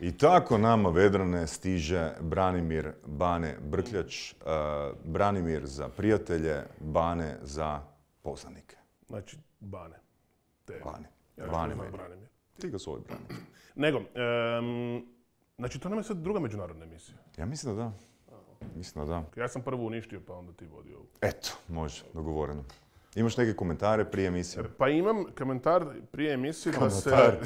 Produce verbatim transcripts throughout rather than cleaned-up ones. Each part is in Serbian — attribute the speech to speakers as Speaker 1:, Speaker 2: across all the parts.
Speaker 1: I tako nama Vedrane stiže Branimir Bane Brkljač, uh, Branimir za prijatelje, Bane za poznanike.
Speaker 2: Znači, Bane. Te.
Speaker 1: Bane.
Speaker 2: Ja
Speaker 1: Bane
Speaker 2: znam
Speaker 1: meni.
Speaker 2: Branimir.
Speaker 1: Ti ga zove Branimir.
Speaker 2: Nego, um, znači to nam je sad druga međunarodna emisija.
Speaker 1: Ja mislim da da. Mislim da da.
Speaker 2: Ja sam prvo uništio, pa onda ti vodio ovu.
Speaker 1: Eto, može, dogovoreno. Imaš neke komentare prije emisije?
Speaker 2: Pa imam komentar prije emisije da se...
Speaker 1: Komentar.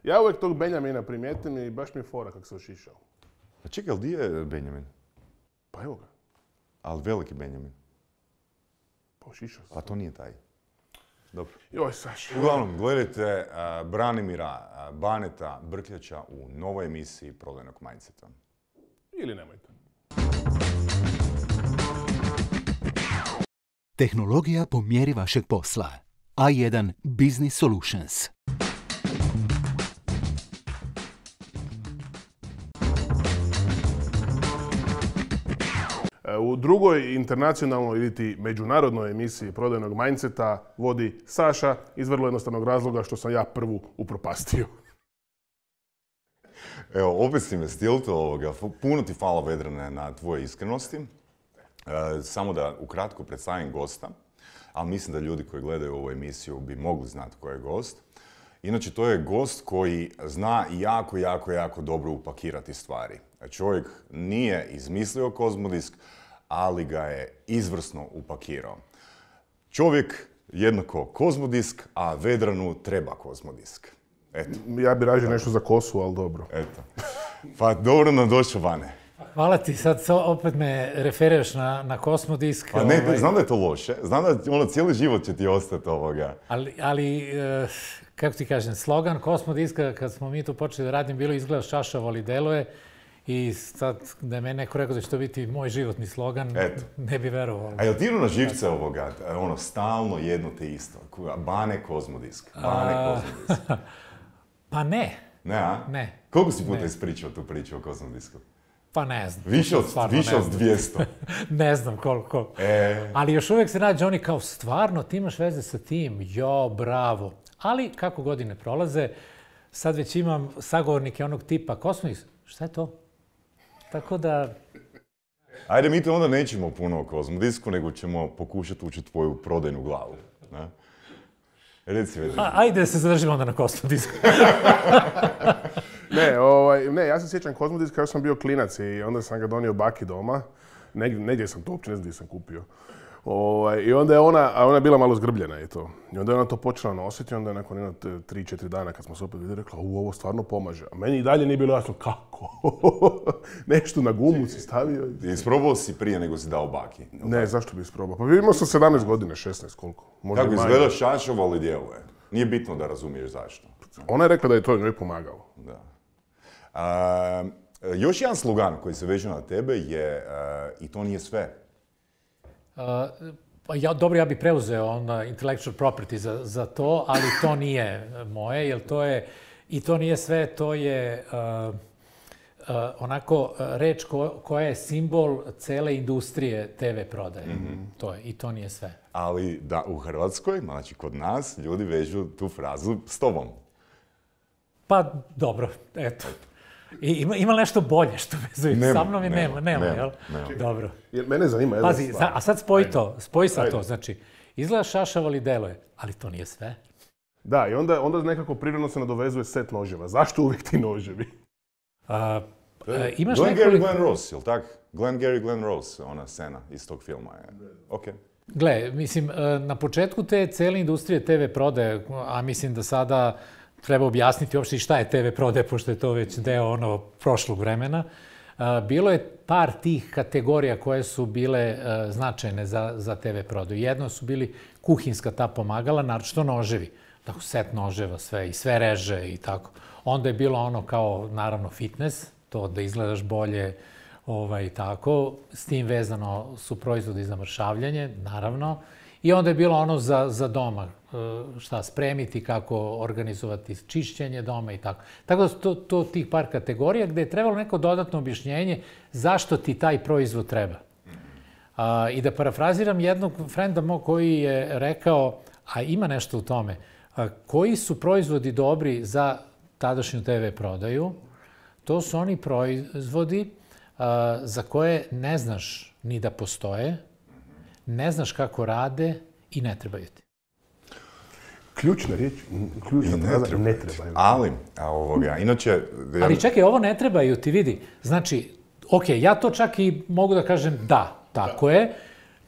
Speaker 2: Ja uvijek tog Benjamina primijetim i baš mi je fora kako se ošišao.
Speaker 1: A čekaj, ali di je Benjamin?
Speaker 2: Pa evo ga.
Speaker 1: Ali veliki Benjamin.
Speaker 2: Pa ošišao se.
Speaker 1: A to nije taj. Dobro.
Speaker 2: Joj, Saša.
Speaker 1: Uglavnom, gledajte uh, Branimira uh, Baneta Brkljača u novoj emisiji Prodajnog mindseta.
Speaker 2: Ili nemojte.
Speaker 3: Tehnologija po mjeri vašeg posla. A jedan Business Solutions.
Speaker 2: U drugoj internacionalnoj ili ti međunarodnoj emisiji Prodajnog mindseta vodi Saša iz vrlo jednostavnog razloga što sam ja prvu upropastio.
Speaker 1: Evo, opet si me stilto ovoga. Puno ti hvala Vedrane na tvoje iskrenosti. E, samo da ukratko predstavim gosta, ali mislim da ljudi koji gledaju ovu emisiju bi mogli znati ko je gost. Inače, to je gost koji zna jako, jako, jako dobro upakirati stvari. Čovjek nije izmislio Kozmodisk, ali ga je izvrsno upakirao. Čovjek jednako Kozmodisk, a Vedranu treba Kozmodisk. Eto.
Speaker 2: Ja bi rađe nešto za kosu, ali dobro.
Speaker 1: Eto. Pa dobro nam došao, Bane.
Speaker 4: Hvala ti, sad opet me referiraš na, na Kosmodisk.
Speaker 1: Pa ne,
Speaker 4: ovaj...
Speaker 1: znam da je to loše, znam da ono, cijeli život će ti ostati ovoga.
Speaker 4: Ali, ali e, kako ti kažem, slogan Kosmodiska, kad smo mi tu počeli da radim, bilo izgledaš čašavo, ali deluje. I sad, da je meni neko rekao da će to biti moj životni slogan,
Speaker 1: Eto.
Speaker 4: ne bi verovao.
Speaker 1: A jel ti idu na živce ovoga, ono, stalno jedno te isto? Bane Kozmodisk, Bane
Speaker 4: A...
Speaker 1: Kozmodisk.
Speaker 4: Pa ne.
Speaker 1: Ne, a?
Speaker 4: Ne.
Speaker 1: Koliko si puta
Speaker 4: Ne.
Speaker 1: ispričao tu priču o Kozmodisku?
Speaker 4: Pa ne znam.
Speaker 1: Više od,
Speaker 4: Stvarno
Speaker 1: više
Speaker 4: ne
Speaker 1: od
Speaker 4: znam.
Speaker 1: dvjesto.
Speaker 4: Ne znam koliko.
Speaker 1: E...
Speaker 4: Ali još uvijek se nađe oni kao, stvarno, ti imaš veze sa tim, jo, bravo. Ali kako godine prolaze, sad već imam sagovornike onog tipa, Kosmodisk, šta je to? Tako da...
Speaker 1: Ajde, mi te onda nećemo puno o Kozmodisku, nego ćemo pokušati učiti tvoju prodajnu glavu. Ne? Reci, Vedrana.
Speaker 4: A, ajde da se zadržimo onda na Kosmodisku.
Speaker 2: Ne, ovaj, ne, ja se sjećam Kozmodiska, još sam bio klinac i onda sam ga donio baki doma. Negdje, negdje sam to uopće ne znam gdje sam kupio. Ovaj, I onda je ona, a ona je bila malo zgrbljena i to. I onda je ona to počela nositi i onda je nakon jedno tri četiri dana kad smo se opet vidjeli rekla, u, ovo stvarno pomaže. A meni i dalje nije bilo jasno kako. Nešto na gumu si stavio.
Speaker 1: I isprobao si prije nego si dao baki?
Speaker 2: Ne, zašto bi isprobao? Pa imao sam sedamnaest godine, šesnaest, koliko? Možda
Speaker 1: Kako
Speaker 2: i manje.
Speaker 1: izgleda šašavo, ali djeluje. Nije bitno da razumiješ zašto.
Speaker 2: Ona je rekla da je to njoj pomagalo.
Speaker 1: Da. A, još jedan slogan koji se veže na tebe je a, i to nije sve.
Speaker 4: Uh, pa ja, dobro, ja bih preuzeo onda intellectual property za, za to, ali to nije moje, jer to je, i to nije sve, to je uh, uh, onako uh, reč ko, koja je simbol cele industrije te ve prodaje. Mm-hmm. To je, i to nije sve.
Speaker 1: Ali da u Hrvatskoj, znači kod nas, ljudi vežu tu frazu s tobom.
Speaker 4: Pa dobro, eto. I ima, ima nešto bolje što vezuje
Speaker 1: Nema,
Speaker 4: sa mnom i nema,
Speaker 1: nema,
Speaker 4: nema,
Speaker 1: nema,
Speaker 4: jel?
Speaker 1: nema.
Speaker 4: Dobro.
Speaker 2: Jer mene zanima jedna
Speaker 4: Pazi,
Speaker 2: stvar.
Speaker 4: a sad spoji to, spoji sa
Speaker 2: Ajde.
Speaker 4: to, znači, izgleda šašavo ali deluje, ali to nije sve.
Speaker 2: Da, i onda, onda nekako prirodno se nadovezuje set noževa. Zašto uvijek ti noževi?
Speaker 4: A, e, imaš
Speaker 1: Glenn Gary,
Speaker 4: nekoliko...
Speaker 1: Glenn Rose, jel tak? Glenn Gary, Glenn Rose, ona scena iz tog filma je. Ok.
Speaker 4: Gle, mislim, e, na početku te cele industrije te ve prodaje, a mislim da sada treba objasniti uopšte šta je te ve prodaje, pošto je to već deo ono prošlog vremena, a, bilo je par tih kategorija koje su bile a, značajne za, za te ve prodaju. Jedno su bili kuhinska ta pomagala, naročito noževi. Tako, set noževa, sve i sve reže i tako. Onda je bilo ono kao, naravno, fitness, to da izgledaš bolje, ovaj, tako. S tim vezano su proizvodi za mršavljanje, naravno. I onda je bilo ono za, za doma, šta spremiti, kako organizovati čišćenje doma i tako. Tako da su to, to tih par kategorija gde je trebalo neko dodatno objašnjenje zašto ti taj proizvod treba. A, I da parafraziram jednog frenda mog koji je rekao, a ima nešto u tome, a, koji su proizvodi dobri za tadašnju te ve prodaju, to su oni proizvodi za koje ne znaš ni da postoje, ne znaš kako rade i ne trebaju ti.
Speaker 2: Ključna riječ, ključna fraza, ne trebaju.
Speaker 1: Ali, ovoga, inače...
Speaker 4: Ali čekaj, ovo ne trebaju ti, vidi. Znači, ok, ja to čak i mogu da kažem da, tako je,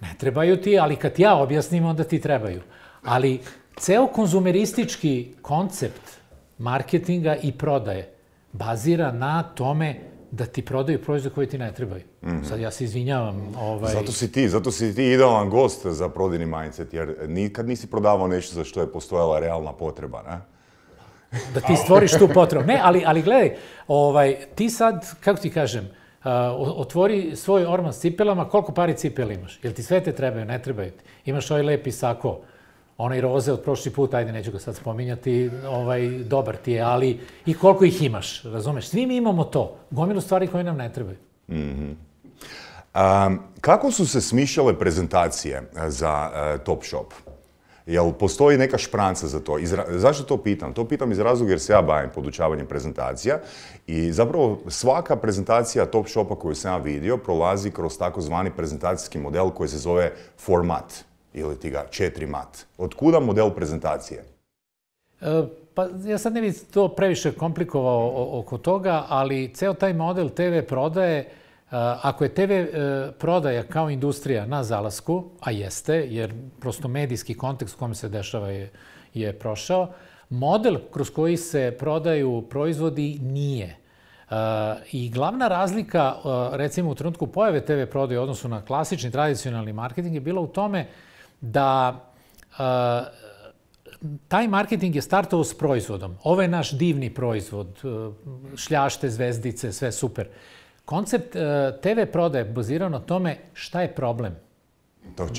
Speaker 4: ne trebaju ti, ali kad ja objasnim, onda ti trebaju. Ali ceo konzumeristički koncept marketinga i prodaje bazira na tome da ti prodaju proizvode koji ti ne trebaju. Sad ja se izvinjavam.
Speaker 1: Zato si ti, zato si ti idealan gost za prodajni mindset, jer nikad nisi prodavao nešto za što je postojala realna potreba, ne?
Speaker 4: Da ti stvoriš tu potrebu. Ne, ali gledaj, ti sad, kako ti kažem, otvori svoj orman s cipelama, koliko pari cipela imaš? Jel ti sve te trebaju, ne trebaju ti? Imaš ovaj lepi sako, onaj roze od prošli put, ajde, neću ga sad spominjati, dobar ti je, ali i koliko ih imaš, razumeš? Svi mi imamo to, gomilu stvari koje nam ne trebaju.
Speaker 1: Kako su se smišljale prezentacije za Topshop? Jel postoji neka špranca za to? Zašto to pitam? To pitam iz razloga jer se ja bavim podučavanjem prezentacija i zapravo svaka prezentacija Topshopa koju sam ja vidio prolazi kroz takozvani prezentacijski model koji se zove format ili ti ga četiri mat. Otkuda model prezentacije?
Speaker 4: Pa ja sad ne bih to previše komplikovao oko toga, ali ceo taj model te ve prodaje, ako je te ve prodaja kao industrija na zalasku, a jeste, jer prosto medijski kontekst u kojem se dešava je prošao, model kroz koji se prodaju proizvodi nije. I glavna razlika, recimo u trenutku pojave te ve prodaje u odnosu na klasični tradicionalni marketing je bila u tome da taj marketing je startovao s proizvodom. Ovo je naš divni proizvod, šljašte, zvezdice, sve super. Koncept te ve prodaje je bazirao na tome šta je problem.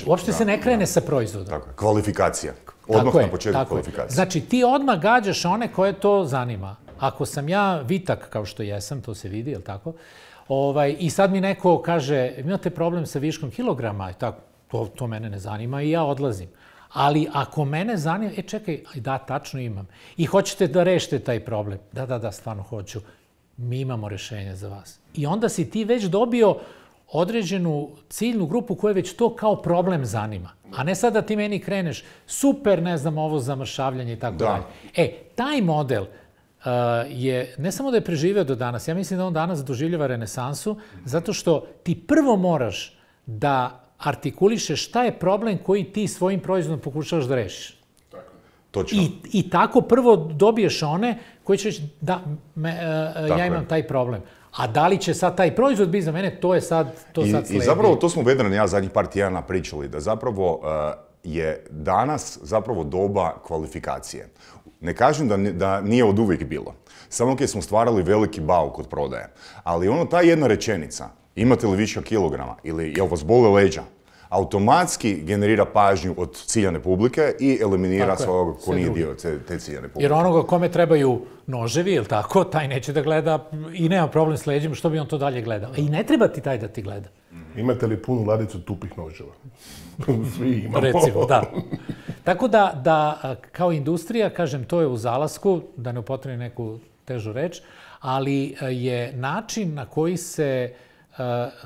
Speaker 4: Uopšte se ne krene sa proizvodom.
Speaker 1: Tako je, kvalifikacija. Odmah na početku kvalifikacije.
Speaker 4: Znači, ti odmah gađaš one koje to zanima. Ako sam ja vitak, kao što jesam, to se vidi, je li tako? I sad mi neko kaže, imate problem sa viškom kilograma, to mene ne zanima i ja odlazim. Ali ako mene zanima, e čekaj, da, tačno imam. I hoćete da rešite taj problem. Da, da, da, stvarno hoću. Mi imamo rešenje za vas. I onda si ti već dobio određenu ciljnu grupu koja već to kao problem zanima. A ne sad da ti meni kreneš, super, ne znam, ovo zamršavljanje i tako dalje. E, taj model je, ne samo da je preživeo do danas, ja mislim da on danas doživljava renesansu, zato što ti prvo moraš da artikulišeš šta je problem koji ti svojim proizvodom pokušavaš da rešiš.
Speaker 1: Točno.
Speaker 4: I tako prvo dobiješ one koji će reći da, ja imam taj problem. A da li će sad taj proizvod biti za mene, to je sad sledi.
Speaker 1: I zapravo to smo Vedran i ja zadnjih par tjedana pričali, da zapravo je danas zapravo doba kvalifikacije. Ne kažem da nije od uvijek bilo. Samo kad smo stvarali veliki bauk od prodaje. Ali ono, ta jedna rečenica, imate li viška kilograma ili jel vas bole leđa, automatski generira pažnju od ciljane publike i eliminira svoga ko nije dio te ciljane publike.
Speaker 4: Jer onoga kome trebaju noževi, ili tako, taj neće da gleda i nema problem s leđima, što bi on to dalje gledao. I ne treba ti taj da ti gleda.
Speaker 2: Imate li punu ladicu tupih noževa? Svi imamo.
Speaker 4: Recimo, da. Tako da, kao industrija, kažem, to je u zalasku, da ne upotrebim neku težu reč, ali je način na koji se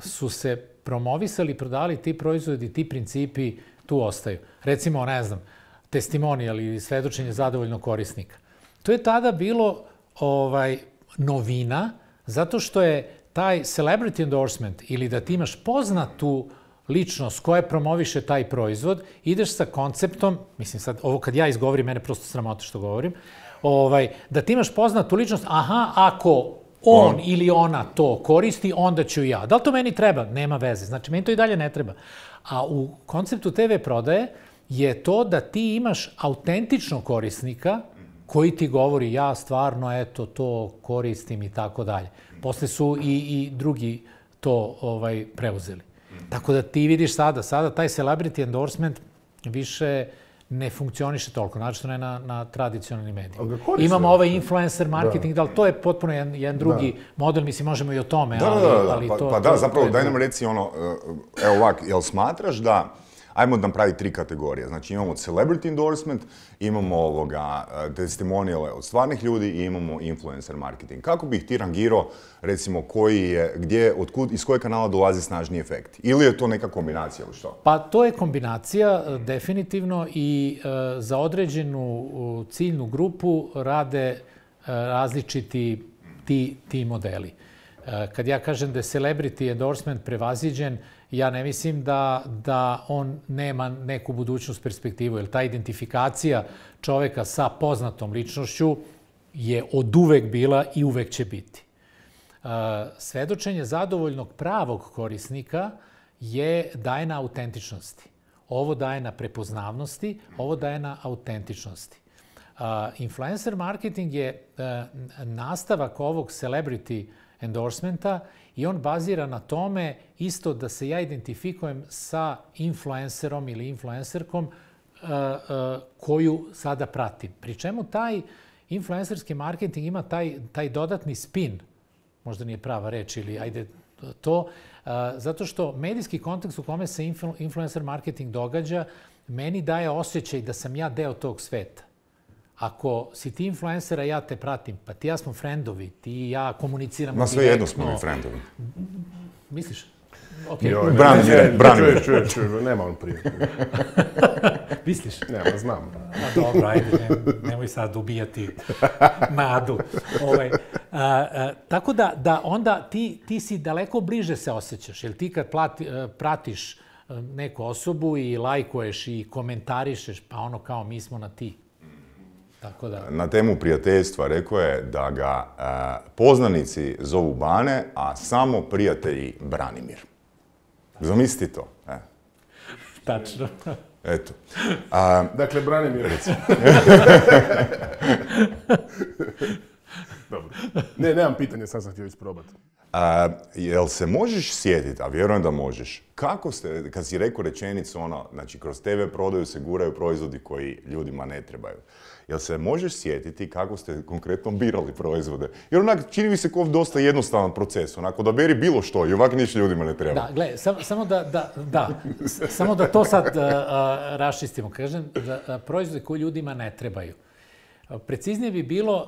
Speaker 4: su se promovisali i prodali ti proizvodi, ti principi tu ostaju. Recimo, ne znam, testimonijal ili svedočenje zadovoljnog korisnika. To je tada bilo novina, zato što je taj celebrity endorsement ili da ti imaš poznatu ličnost koja promoviše taj proizvod, ideš sa konceptom, mislim sad, ovo kad ja izgovorim, mene prosto sramota što govorim, da ti imaš poznatu ličnost, aha, ako on ili ona to koristi, onda ću ja. Da li to meni treba? Nema veze. Znači, meni to i dalje ne treba. A u konceptu te ve prodaje je to da ti imaš autentičnog korisnika koji ti govori ja stvarno, eto, to koristim i tako dalje. Posle su i drugi to preuzeli. Tako da ti vidiš sada, sada taj celebrity endorsement više ne funkcioniše toliko, znači ne na tradicionalnim medijima. Imamo ovaj influencer marketing, ali to je potpuno jedan drugi model, mislim, možemo i o tome, ali to...
Speaker 1: Pa da, zapravo, daj nam reci ono, evo ovak, jel smatraš da ajmo napraviti tri kategorije. Znači imamo celebrity endorsement, imamo ovoga testimoniale od stvarnih ljudi i imamo influencer marketing. Kako bih ti rangirao, recimo, koji je, gdje, otkud, iz kojeg kanala dolazi snažni efekt? Ili je to neka kombinacija ili što?
Speaker 4: Pa to je kombinacija, definitivno, i e, za određenu ciljnu grupu rade e, različiti ti, ti modeli. E, kad ja kažem da je celebrity endorsement prevaziđen, ja ne mislim da, da on nema neku budućnost perspektivu, jer ta identifikacija čoveka sa poznatom ličnošću je od uvek bila i uvek će biti. Uh, svedočenje zadovoljnog pravog korisnika je daje na autentičnosti. Ovo daje na prepoznavnosti, ovo daje na autentičnosti. Uh, influencer marketing je uh, nastavak ovog celebrity endorsementa i on bazira na tome isto da se ja identifikujem sa influencerom ili influencerkom uh, uh, koju sada pratim. Pri čemu taj influencerski marketing ima taj, taj dodatni spin, možda nije prava reč ili ajde to, uh, zato što medijski kontekst u kome se influ, influencer marketing događa meni daje osjećaj da sam ja deo tog sveta. Ako si ti influencera, ja te pratim, pa ti ja smo friendovi, ti i ja komuniciramo
Speaker 1: direktno. Na sve jedno smo mi friendovi.
Speaker 4: Misliš? Okay.
Speaker 1: Branimir, Branimir.
Speaker 2: Čuje, čuje, čuje, nema on prije.
Speaker 4: Misliš?
Speaker 2: Nema, znam.
Speaker 4: A dobro, ajde, ne, nemoj sad ubijati nadu. Ovaj, a, a, tako da, da onda ti, ti si daleko bliže se osjećaš, jer ti kad plati, pratiš neku osobu i lajkuješ i komentarišeš, pa ono kao mi smo na ti. Tako da...
Speaker 1: Na temu prijateljstva rekao je da ga e, poznanici zovu Bane, a samo prijatelji Branimir. Zamisli to. E.
Speaker 4: Tačno.
Speaker 1: Eto. A,
Speaker 2: dakle, Branimir, recimo. Dobro. Ne, nemam pitanja, sad sam htio isprobati.
Speaker 1: A, jel se možeš sjetiti, a vjerujem da možeš, kako ste, kad si rekao rečenicu ono, znači kroz te ve prodaju se guraju proizvodi koji ljudima ne trebaju. Jel se možeš sjetiti kako ste konkretno birali proizvode? Jer onak čini mi se kao dosta jednostavan proces, onako da beri bilo što i ovak niš ljudima ne treba.
Speaker 4: Da, gle, sam, samo da, da, da, samo da to sad uh, uh, raščistimo. Kažem da uh, proizvode koji ljudima ne trebaju. Uh, preciznije bi bilo uh,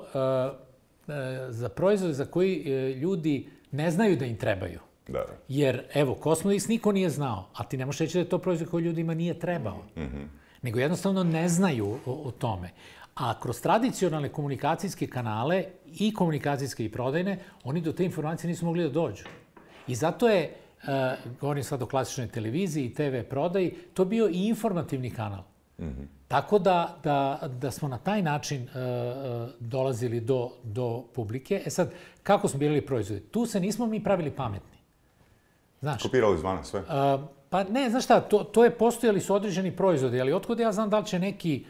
Speaker 4: uh, za proizvode za koji uh, ljudi ne znaju da im trebaju.
Speaker 1: Da.
Speaker 4: Jer, evo, Cosmodix niko nije znao, a ti ne možeš reći da je to proizvod koji ljudima nije trebao. Mm-hmm. Nego jednostavno ne znaju o, o tome. A kroz tradicionalne komunikacijske kanale, i komunikacijske i prodajne, oni do te informacije nisu mogli da dođu. I zato je, uh, govorim sad o klasičnoj televiziji i te ve prodaji, to bio i informativni kanal. Mm-hmm. Tako da, da, da smo na taj način uh, dolazili do, do publike. E sad, kako smo birali proizvode? Tu se nismo mi pravili pametni. Znaš,
Speaker 1: kopirali izvana sve? Uh,
Speaker 4: pa ne, znaš šta, to, to je postojali su određeni proizvodi, ali otkud ja znam da li će neki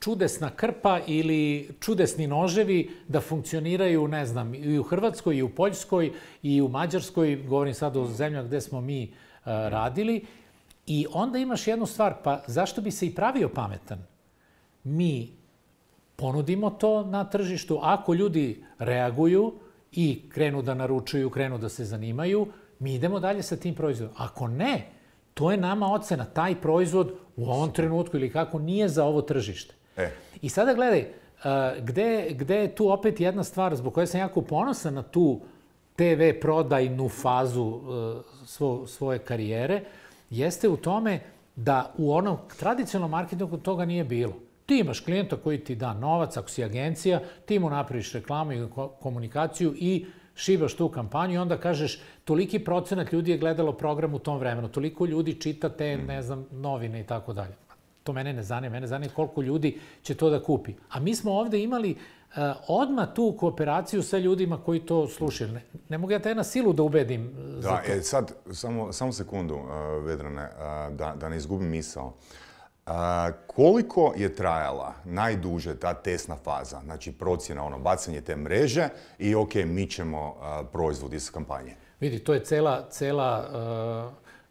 Speaker 4: čudesna krpa ili čudesni noževi da funkcioniraju, ne znam, i u Hrvatskoj, i u Poljskoj, i u Mađarskoj, govorim sad o zemljama gde smo mi uh, radili. I onda imaš jednu stvar, pa zašto bi se i pravio pametan? Mi ponudimo to na tržištu, ako ljudi reaguju i krenu da naručuju, krenu da se zanimaju, mi idemo dalje sa tim proizvodom. Ako ne, to je nama ocena, taj proizvod u ovom trenutku ili kako nije za ovo tržište.
Speaker 1: E.
Speaker 4: I sada gledaj, gde, gde je tu opet jedna stvar zbog koje sam jako ponosan na tu te ve prodajnu fazu svo, svoje karijere, jeste u tome da u onom tradicionalnom marketingu toga nije bilo. Ti imaš klijenta koji ti da novac, ako si agencija, ti mu napraviš reklamu i komunikaciju i šibaš tu kampanju i onda kažeš toliki procenat ljudi je gledalo program u tom vremenu, toliko ljudi čita te, ne znam, novine i tako dalje. To mene ne zanima, mene zanima koliko ljudi će to da kupi. A mi smo ovde imali uh, odmah tu kooperaciju sa ljudima koji to slušaju. Ne, ne mogu ja te na silu da ubedim uh, za
Speaker 1: da,
Speaker 4: to.
Speaker 1: E, sad, samo, samo sekundu, uh, Vedrane, uh, da, da ne izgubim misao. Uh, koliko je trajala najduže ta testna faza, znači procjena, ono, bacanje te mreže i ok, mi ćemo uh, proizvod iz kampanje?
Speaker 4: Vidi, to je cela, cela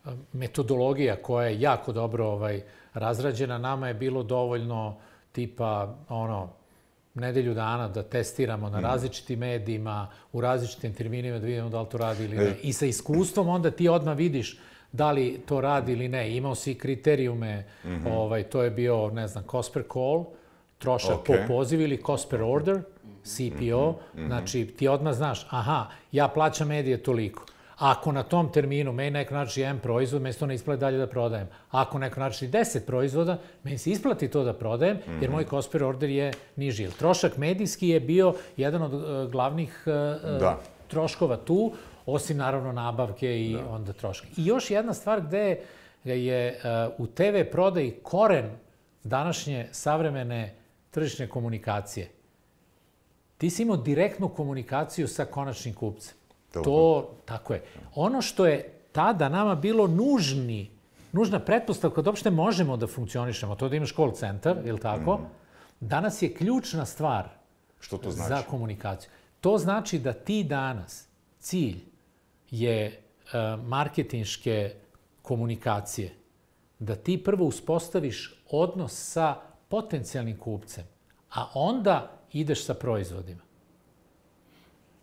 Speaker 4: uh, metodologija koja je jako dobro ovaj, razrađena. Nama je bilo dovoljno tipa ono, nedelju dana da testiramo na različitim medijima, u različitim terminima da vidimo da li to radi ili ne. I sa iskustvom onda ti odmah vidiš da li to radi ili ne. Imao si kriterijume,
Speaker 1: Mhm.
Speaker 4: ovaj, to je bio, ne znam, cost per call, trošak po
Speaker 1: Ok.
Speaker 4: pozivu ili cost per order, C P O. Znači, ti odmah znaš, aha, ja plaćam medije toliko. Ako na tom terminu meni neko nači jedan proizvod, meni se to ne isplati dalje da prodajem. Ako neko nači deset proizvoda, meni se isplati to da prodajem, jer moj cost per order je niži. Jer trošak medijski je bio jedan od uh, glavnih uh,
Speaker 1: Da.
Speaker 4: troškova tu, osim naravno nabavke i onda troška. I još jedna stvar gde je uh, u te ve prodaji koren današnje savremene tržišne komunikacije. Ti si imao direktnu komunikaciju sa konačnim kupcem. To, tako je. Ono što je tada nama bilo nužni, nužna pretpostavka da uopšte možemo da funkcionišemo, to da imaš call centar, ili tako, danas je ključna stvar
Speaker 1: Što to znači?
Speaker 4: za komunikaciju. To znači da ti danas, cilj je uh, marketinške komunikacije, da ti prvo uspostaviš odnos sa potencijalnim kupcem, a onda ideš sa proizvodima.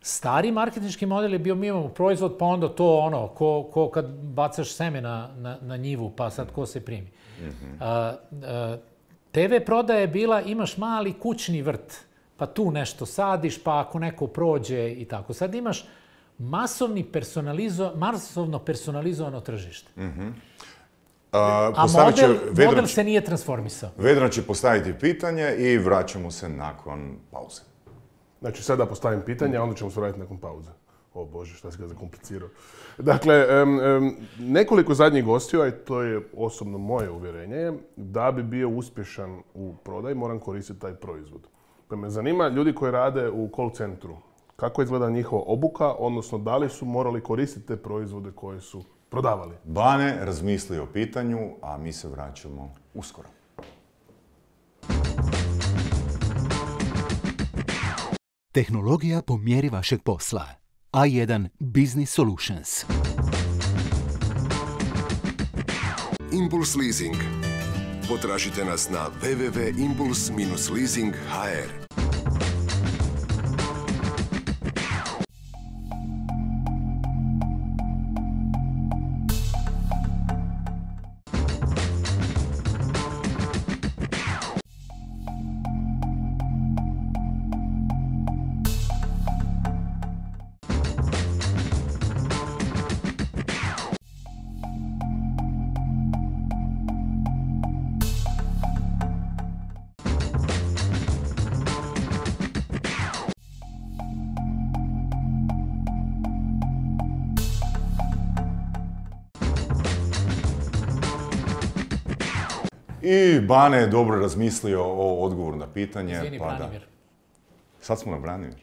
Speaker 4: Stari marketinški model je bio, mi imamo proizvod, pa onda to ono, ko, ko kad bacaš seme na, na, na njivu, pa sad ko se primi. Mm-hmm. a, a, te ve prodaja je bila, imaš mali kućni vrt, pa tu nešto sadiš, pa ako neko prođe i tako. Sad imaš masovni personalizo, masovno personalizovano tržište.
Speaker 1: Mm-hmm.
Speaker 4: A, a model, model se nije transformisao.
Speaker 1: Vedran će postaviti pitanje i vraćamo se nakon pauze.
Speaker 2: Znači, sada postavim pitanje, a onda ćemo se vratiti nakon pauze. O Bože, šta si ga zakomplicirao. Dakle, um, um, nekoliko zadnjih gostiju, a to je osobno moje uvjerenje, da bi bio uspješan u prodaji, moram koristiti taj proizvod. Pa me zanima ljudi koji rade u call centru, kako izgleda njihova obuka, odnosno da li su morali koristiti te proizvode koje su prodavali.
Speaker 1: Bane razmisli o pitanju, a mi se vraćamo uskoro.
Speaker 3: Tehnologija po mjeri vašeg posla. A jedan Business Solutions.
Speaker 5: Impuls Leasing. Potražite nas na w w w tačka impuls dash leasing tačka h r.
Speaker 1: I Bane je dobro razmislio o odgovoru na pitanje.
Speaker 4: Izvini,
Speaker 1: pa
Speaker 4: Branimir.
Speaker 1: Da. Sad smo na Branimir.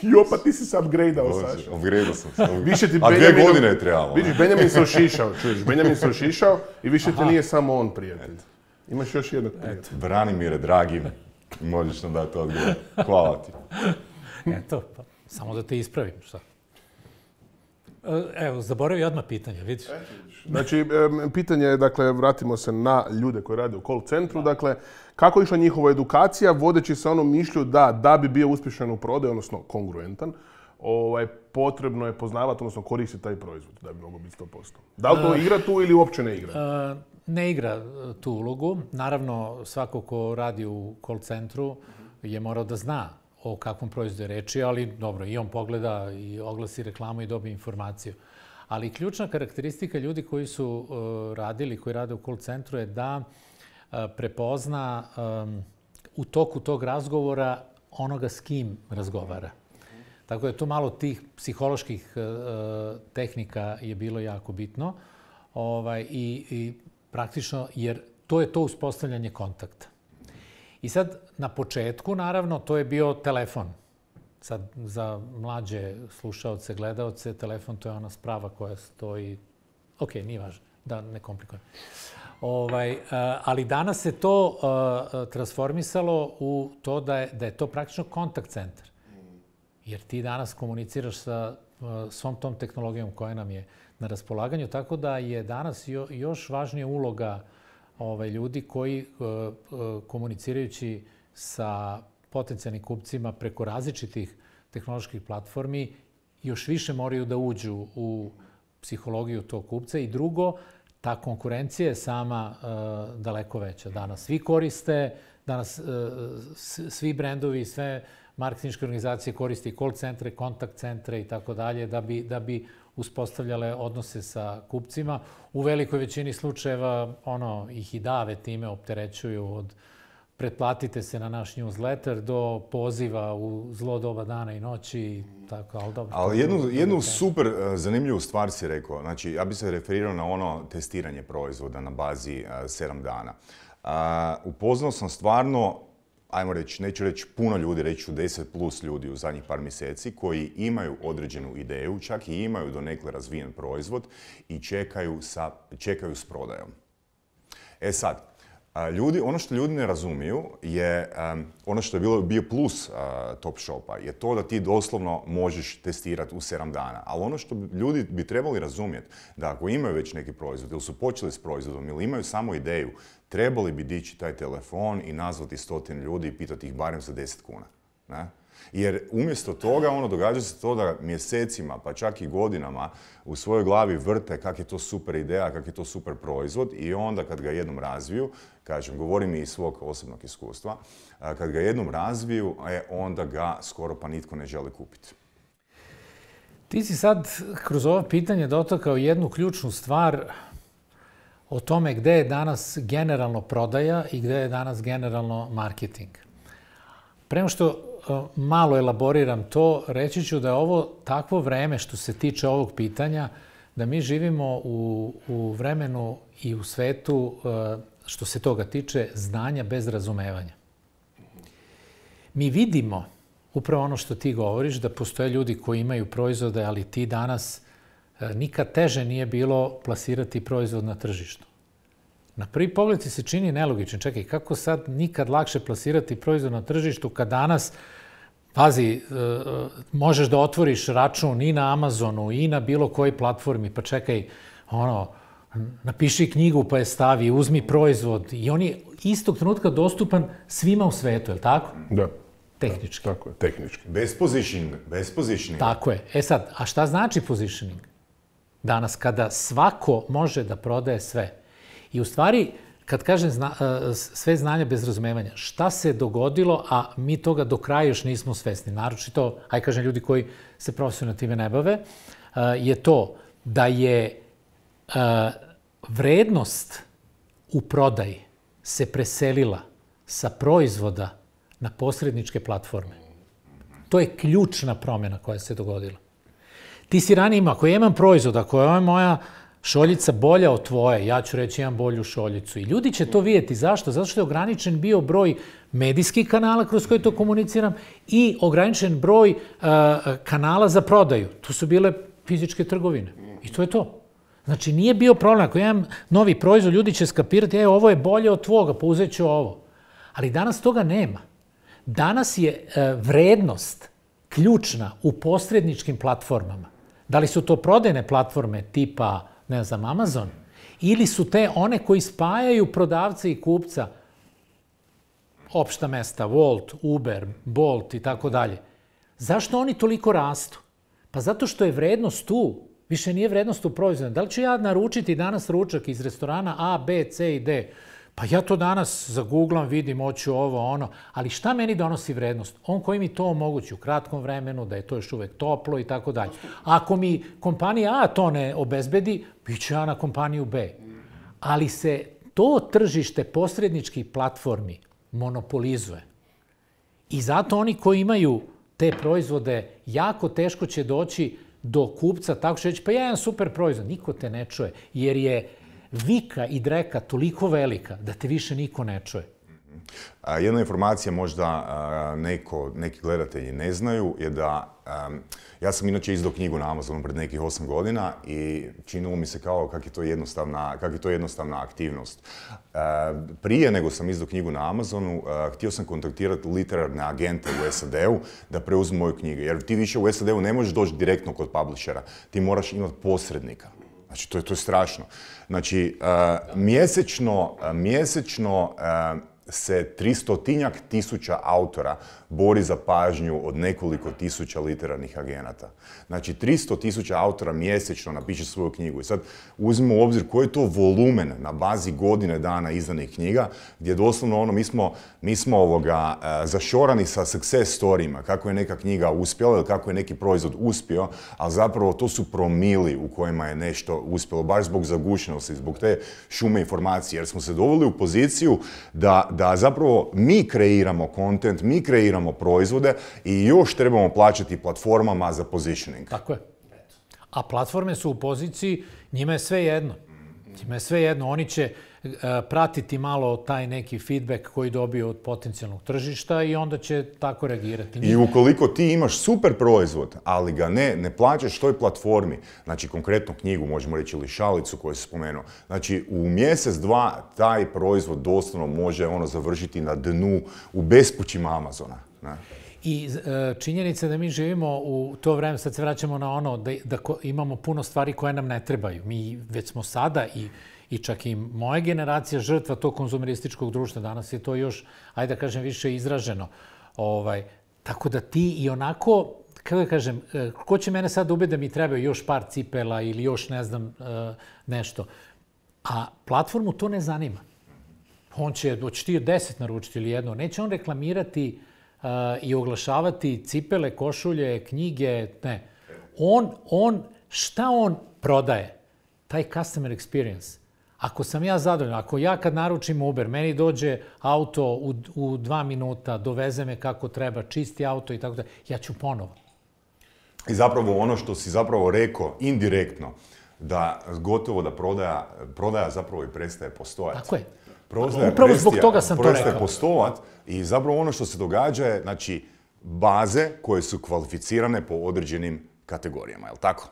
Speaker 2: Jo, pa ti si se upgradeao, Saša.
Speaker 1: Upgradeao sam se.
Speaker 2: Više ti
Speaker 1: A dvije
Speaker 2: Benjamin-
Speaker 1: godine je trebalo.
Speaker 2: Vidiš, Benjamin se ošišao, čuješ, Benjamin se ošišao i više ti nije samo on prijatelj. Imaš još jednog prijatelja.
Speaker 1: Branimire, dragi, možeš nam dati odgovor. Hvala ti.
Speaker 4: Eto, pa, samo da te ispravim, šta? E, Evo, zaboravio odmah pitanje, vidiš?
Speaker 2: Znači, em, pitanje je, dakle, vratimo se na ljude koji rade u call centru. Dakle, kako je išla njihova edukacija, vodeći se onom mišlju da, da bi bio uspješan u prodaju, odnosno kongruentan, ovaj, potrebno je poznavati, odnosno koristiti taj proizvod da bi mogao biti sto posto. Da li to igra tu ili uopće ne igra?
Speaker 4: E, Ne igra e, tu ulogu. Naravno, svako ko radi u call centru je morao da zna o kakvom proizvodu je reči, ali dobro, i on pogleda i oglasi reklamu i dobije informaciju. Ali ključna karakteristika ljudi koji su uh, radili, koji rade u call centru je da uh, prepozna um, u toku tog razgovora onoga s kim razgovara. Tako da tu malo tih psiholoških uh, tehnika je bilo jako bitno. Ovaj, i, i praktično, jer to je to uspostavljanje kontakta. I sad, na početku, naravno, to je bio telefon. Sad, za mlađe slušaoce, gledaoce, telefon to je ona sprava koja stoji... Ok, nije važno, da ne komplikujem. Ovaj, uh, ali danas se to uh, transformisalo u to da je, da je to praktično kontakt centar. Jer ti danas komuniciraš sa uh, svom tom tehnologijom koja nam je na raspolaganju, tako da je danas jo, još važnija uloga ovaj, ljudi koji uh, uh, komunicirajući sa potencijalnim kupcima preko različitih tehnoloških platformi još više moraju da uđu u psihologiju tog kupca i drugo, ta konkurencija je sama uh, daleko veća. Danas svi koriste, danas uh, svi brendovi, sve marketinške organizacije koriste i call centre, kontakt centre i tako dalje da bi, da bi uspostavljale odnose sa kupcima. U velikoj većini slučajeva ono, ih i dave time opterećuju od pretplatite se na naš newsletter do poziva u zlo doba dana i noći. Tako, ali dobro.
Speaker 1: Ali jednu, jednu super zanimljivu stvar si rekao. Znači, ja bih se referirao na ono testiranje proizvoda na bazi uh, sedam dana. Uh, upoznao sam stvarno, ajmo reći, neću reći puno ljudi, reći ću deset plus ljudi u zadnjih par mjeseci koji imaju određenu ideju, čak i imaju donekle razvijen proizvod i čekaju, sa, čekaju s prodajom. E sad, ljudi, ono što ljudi ne razumiju je, um, ono što je bilo, bio plus uh, Top Shopa, je to da ti doslovno možeš testirati u sedam dana. Ali ono što ljudi bi trebali razumjeti, da ako imaju već neki proizvod ili su počeli s proizvodom ili imaju samo ideju, trebali bi dići taj telefon i nazvati stotinu ljudi i pitati ih barem za deset kuna. Ne? Jer umjesto toga, ono, događa se to da mjesecima, pa čak i godinama, u svojoj glavi vrte kak je to super ideja, kak je to super proizvod i onda kad ga jednom razviju, kažem, govorim i iz svog osobnog iskustva, kad ga jednom razviju, e, onda ga skoro pa nitko ne želi kupiti.
Speaker 4: Ti si sad kroz ovo pitanje dotakao jednu ključnu stvar o tome gde je danas generalno prodaja i gde je danas generalno marketing. Prema što malo elaboriram to, reći ću da je ovo takvo vreme što se tiče ovog pitanja, da mi živimo u, u vremenu i u svetu, što se toga tiče, znanja bez razumevanja. Mi vidimo, upravo ono što ti govoriš, da postoje ljudi koji imaju proizvode, ali ti danas nikad teže nije bilo plasirati proizvod na tržištu. Na prvi pogled ti se čini nelogičan. Čekaj, kako sad nikad lakše plasirati proizvod na tržištu kad danas, pazi, možeš da otvoriš račun i na Amazonu i na bilo kojoj platformi, pa čekaj, ono, napiši knjigu pa je stavi, uzmi proizvod i on je istog trenutka dostupan svima u svetu, je li tako?
Speaker 2: Da.
Speaker 4: Tehnički.
Speaker 2: Da, tako je, tehnički.
Speaker 1: Bez positioning, bez positioning.
Speaker 4: Tako je. E sad, a šta znači positioning? Danas, kada svako može da prodaje sve. I u stvari, kad kažem zna, sve znanja bez razumevanja, šta se dogodilo, a mi toga do kraja još nismo svesni, naročito, aj kažem ljudi koji se profesionalno time ne bave, je to da je vrednost u prodaji se preselila sa proizvoda na posredničke platforme. To je ključna promjena koja se dogodila. Ti si ranije imao, ako ja imam proizvod, ako je moja šoljica bolja od tvoje, ja ću reći imam bolju šoljicu. I ljudi će to vidjeti. Zašto? Zato što je ograničen bio broj medijskih kanala kroz koje to komuniciram i ograničen broj uh, kanala za prodaju. To su bile fizičke trgovine. I to je to. Znači, nije bio problem. Ako imam novi proizvod, ljudi će skapirati, e, ovo je bolje od tvoga, pa uzet ću ovo. Ali danas toga nema. Danas je uh, vrednost ključna u posredničkim platformama. Da li su to prodajne platforme tipa, ne znam, Amazon, ili su te one koji spajaju prodavca i kupca, opšta mesta, Wolt, Uber, Bolt i tako dalje. Zašto oni toliko rastu? Pa zato što je vrednost tu. Više nije vrednost u proizvodu. Da li ću ja naručiti danas ručak iz restorana A, B, C i D? Pa ja to danas zagooglam, vidim, hoću ovo, ono. Ali šta meni donosi vrednost? On koji mi to omogući u kratkom vremenu, da je to još uvek toplo i tako dalje. Ako mi kompanija A to ne obezbedi, bit ću ja na kompaniju B. Ali se to tržište posredničkih platformi monopolizuje. I zato oni koji imaju te proizvode, jako teško će doći do kupca, tako što reći, pa ja imam super proizvod. Niko te ne čuje, jer je vika i dreka toliko velika da te više niko ne čuje.
Speaker 1: Jedna informacija možda neko, neki gledatelji ne znaju je da um, ja sam inače izdao knjigu na Amazonu pred nekih osam godina i činilo mi se kao kak je to jednostavna, kak je to jednostavna aktivnost. Uh, prije nego sam izdao knjigu na Amazonu, uh, htio sam kontaktirati literarne agente u S A D-u da preuzmu moju knjigu. Jer ti više u S A D-u ne možeš doći direktno kod publishera, ti moraš imati posrednika. Znači, to je, to je strašno. Znači, uh, mjesečno, uh, mjesečno uh, se tristotinjak tisuća autora bori za pažnju od nekoliko tisuća literarnih agenata. Znači, tristo tisuća autora mjesečno napiše svoju knjigu. I sad uzmimo u obzir koji je to volumen na bazi godine dana izdanih knjiga, gdje doslovno ono, mi smo, mi smo ovoga, uh, zašorani sa success storijima, kako je neka knjiga uspjela ili kako je neki proizvod uspio, ali zapravo to su promili u kojima je nešto uspjelo, baš zbog zagušenosti, zbog te šume informacije, jer smo se doveli u poziciju da, da zapravo mi kreiramo kontent, mi kreiramo proizvode i još trebamo plaćati platformama za positioning.
Speaker 4: Tako je. A platforme su u poziciji, njima je sve jedno. Njima je sve jedno. Oni će uh, pratiti malo taj neki feedback koji dobiju od potencijalnog tržišta i onda će tako reagirati.
Speaker 1: I ukoliko ti imaš super proizvod, ali ga ne, ne plaćaš toj platformi, znači konkretno knjigu, možemo reći, ili šalicu koju si spomenuo, znači u mjesec, dva, taj proizvod doslovno može ono završiti na dnu u bespućima Amazona. Ne?
Speaker 4: I e, činjenica da mi živimo u to vreme, sad se vraćamo na ono da, da ko, imamo puno stvari koje nam ne trebaju. Mi već smo sada i, i čak i moja generacija žrtva tog konzumerističkog društva. Danas je to još, ajde da kažem, više izraženo. Ovaj, tako da ti i onako, kako da kažem, ko će mene sad ubiti da mi trebaju još par cipela ili još ne znam nešto. A platformu to ne zanima. On će, hoće ti deset naručiti ili jedno. Neće on reklamirati Uh, i oglašavati cipele, košulje, knjige, ne. On, on, šta on prodaje? Taj customer experience. Ako sam ja zadovoljan, ako ja kad naručim Uber, meni dođe auto u, u dva minuta, doveze me kako treba, čisti auto i tako da, ja ću ponovo.
Speaker 1: I zapravo ono što si zapravo rekao indirektno, da gotovo da prodaja, prodaja zapravo i prestaje postojati.
Speaker 4: Tako je.
Speaker 1: Prodaja,
Speaker 4: upravo zbog toga sam to rekao.
Speaker 1: Prestaje postojati i zapravo ono što se događa je, znači, baze koje su kvalificirane po određenim kategorijama, je li tako?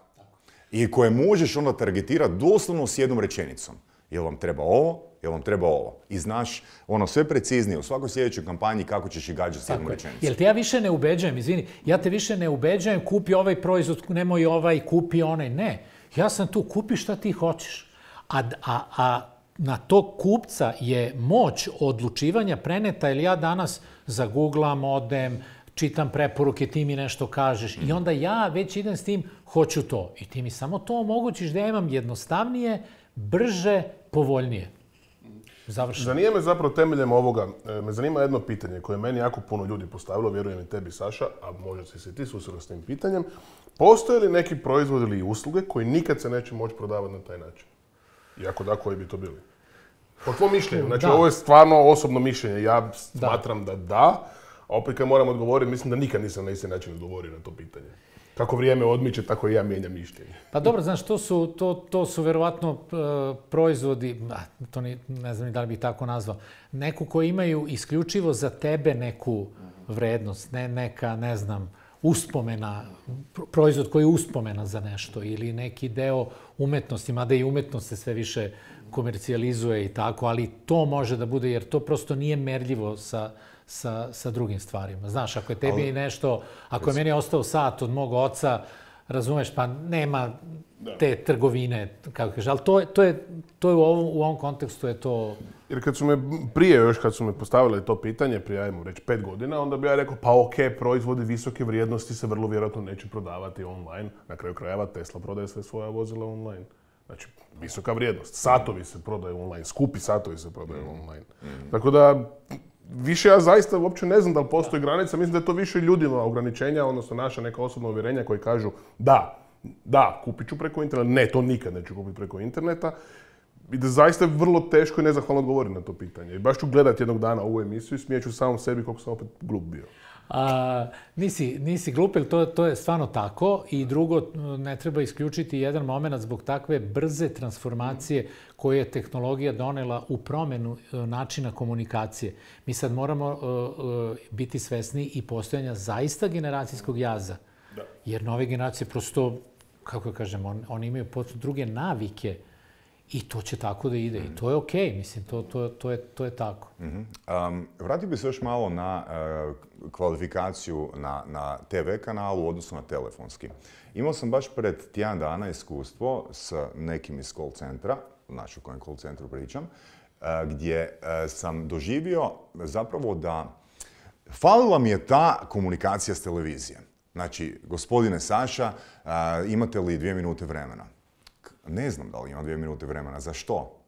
Speaker 1: I koje možeš onda targetirati doslovno s jednom rečenicom. Jel vam treba ovo, jel vam treba ovo. I znaš ono sve preciznije u svakoj sljedećoj kampanji kako ćeš ih gađati s jednom rečenicom.
Speaker 4: Jel te ja više ne ubeđujem, izvini, ja te više ne ubeđujem, kupi ovaj proizvod, nemoj ovaj, kupi onaj. Ne, ja sam tu, kupi šta ti hoćeš. A, a, a na tog kupca je moć odlučivanja preneta, ili ja danas zaguglam, odem, čitam preporuke, ti mi nešto kažeš i onda ja već idem s tim, hoću to. I ti mi samo to omogućiš da ja imam jednostavnije, brže, povoljnije. Završeno.
Speaker 2: Zanima me zapravo temeljem ovoga, me zanima jedno pitanje koje je meni jako puno ljudi postavilo, vjerujem i tebi, Saša, a možda si se ti susreo s tim pitanjem. Postoje li neki proizvod ili usluge koji nikad se neće moći prodavati na taj način? I ako da, koji bi to bili? Po tvojom mišljenju, znači
Speaker 4: da.
Speaker 2: Ovo je stvarno osobno mišljenje, ja smatram da da, da a opet kad moram odgovoriti, mislim da nikad nisam na isti način odgovorio na to pitanje. Kako vrijeme odmiče, tako i ja mijenjam mišljenje.
Speaker 4: Pa dobro, znaš, to su, to, to su verovatno uh, proizvodi, a, to ni, ne znam ni da li bih tako nazvao, neku koji imaju isključivo za tebe neku vrednost, ne neka, ne znam, uspomena, proizvod koji je uspomena za nešto ili neki deo umetnosti, mada i umetnost se sve više komercijalizuje i tako, ali to može da bude, jer to prosto nije merljivo sa, sa, sa drugim stvarima. Znaš, ako je tebi ali, nešto, ako je meni ostao sat od mog oca, razumeš, pa nema te trgovine, kako kaže, ali to je, to je, to je u, ovom, u ovom kontekstu je to...
Speaker 2: Jer kad su me prije, još kad su me postavili to pitanje, prije, ajmo reći, pet godina, onda bi ja rekao, pa ok, proizvodi visoke vrijednosti se vrlo vjerojatno neće prodavati online. Na kraju krajeva Tesla prodaje sve svoja vozila online. Znači, visoka vrijednost. Satovi se prodaju online, skupi satovi se prodaju online. Mm-hmm. Tako da, više ja zaista uopće ne znam da li postoji granica. Mislim da je to više ljudima ograničenja, odnosno naša neka osobna uvjerenja koji kažu da, da, kupit ću preko interneta. Ne, to nikad neću kupiti preko interneta. I da zaista je vrlo teško i nezahvalno odgovoriti na to pitanje. I baš ću gledati jednog dana ovu emisiju i smijeću samom sebi koliko sam opet glup bio.
Speaker 4: A, nisi, nisi glup, jer to, to je stvarno tako. I drugo, ne treba isključiti jedan moment zbog takve brze transformacije koje je tehnologija donela u promjenu načina komunikacije. Mi sad moramo uh, uh, biti svesni i postojanja zaista generacijskog jaza. Da. Jer nove generacije prosto, kako kažem, on, oni imaju potpuno druge navike. I to će tako da ide. I to je okej, okay. Mislim, to, to, to, je, to je tako.
Speaker 1: Mm-hmm. Um, vratio bi se još malo na uh, kvalifikaciju na, na te ve kanalu u odnosu na telefonski. Imao sam baš pred tjedan dana iskustvo s nekim iz call centra, znači o kojem call centru pričam, uh, gdje sam doživio zapravo da falila mi je ta komunikacija s televizije. Znači, gospodine Saša, imate li dvije minute vremena? Ne znam da li imam dvije minute vremena. Za što?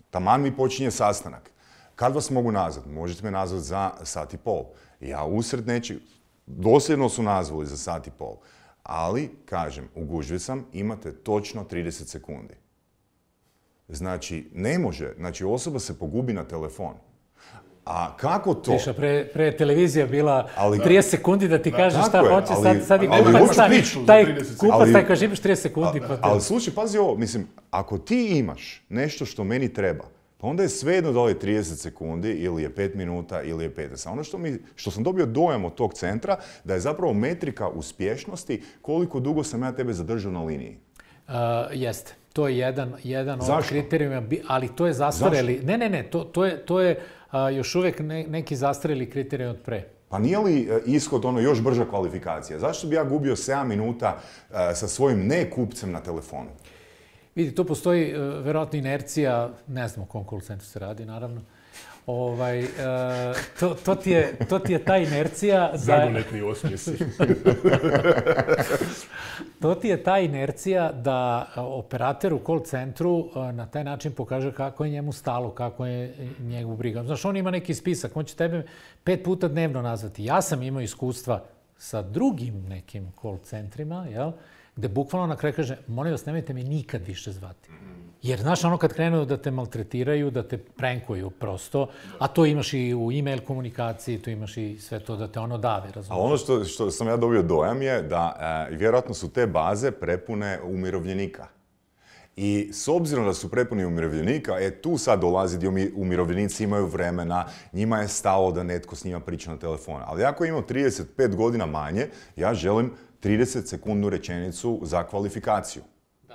Speaker 1: Taman mi počinje sastanak. Kad vas mogu nazvati? Možete me nazvati za sat i pol. Ja usred nečeg, dosljedno su nazvali za sat i pol. Ali, kažem, u gužvi sam, imate točno trideset sekundi. Znači, ne može. Znači, osoba se pogubi na telefon. A kako to?
Speaker 4: Tiša, pre, pre televizija bila
Speaker 1: ali,
Speaker 4: trideset sekundi da ti kaže šta
Speaker 1: je,
Speaker 4: hoće,
Speaker 1: ali,
Speaker 4: sad, sad i
Speaker 2: ali,
Speaker 4: kupac,
Speaker 2: ali,
Speaker 4: taj, taj kupac taj kaže imaš trideset sekundi.
Speaker 1: A,
Speaker 4: pa
Speaker 1: ali slušaj, pazi ovo, mislim, ako ti imaš nešto što meni treba, pa onda je svejedno da li je trideset sekundi ili je pet minuta ili je petnaest. Ono što, mi, što sam dobio dojam od tog centra, da je zapravo metrika uspješnosti koliko dugo sam ja tebe zadržao na liniji.
Speaker 4: Uh, jeste. To je jedan, jedan od kriterijuma, ali to je zastareli.
Speaker 1: Zašto?
Speaker 4: Ne, ne, ne, to, to je, to je uh, još uvijek ne, neki zastareli kriterij od pre.
Speaker 1: Pa nije li ishod ono još brža kvalifikacija? Zašto bi ja gubio sedam minuta uh, sa svojim ne-kupcem na telefonu?
Speaker 4: Vidi, tu postoji uh, verovatno inercija, ne znam o kom call centru se radi, naravno. Ovaj, uh, to, to, ti je, to ti je ta inercija...
Speaker 2: Zagonetni osmijesi.
Speaker 4: To ti je ta inercija da operater u call centru na taj način pokaže kako je njemu stalo, kako je njegov briga. Znaš, on ima neki spisak, on će tebe pet puta dnevno nazvati. Ja sam imao iskustva sa drugim nekim call centrima, jel? Gde bukvalno na kraju kaže, molim vas, nemojte mi nikad više zvati. Jer, znaš, ono kad krenu da te maltretiraju, da te prankuju prosto, a to imaš i u e-mail komunikaciji, to imaš i sve to da te ono dave, razumiješ?
Speaker 1: A ono što, što sam ja dobio dojam je da e, vjerojatno su te baze prepune umirovljenika. I s obzirom da su prepuni umirovljenika, e tu sad dolazi gdje umirovljenici imaju vremena, njima je stalo da netko s njima priča na telefonu. Ali ako imam trideset pet godina manje, ja želim trideset sekundnu rečenicu za kvalifikaciju.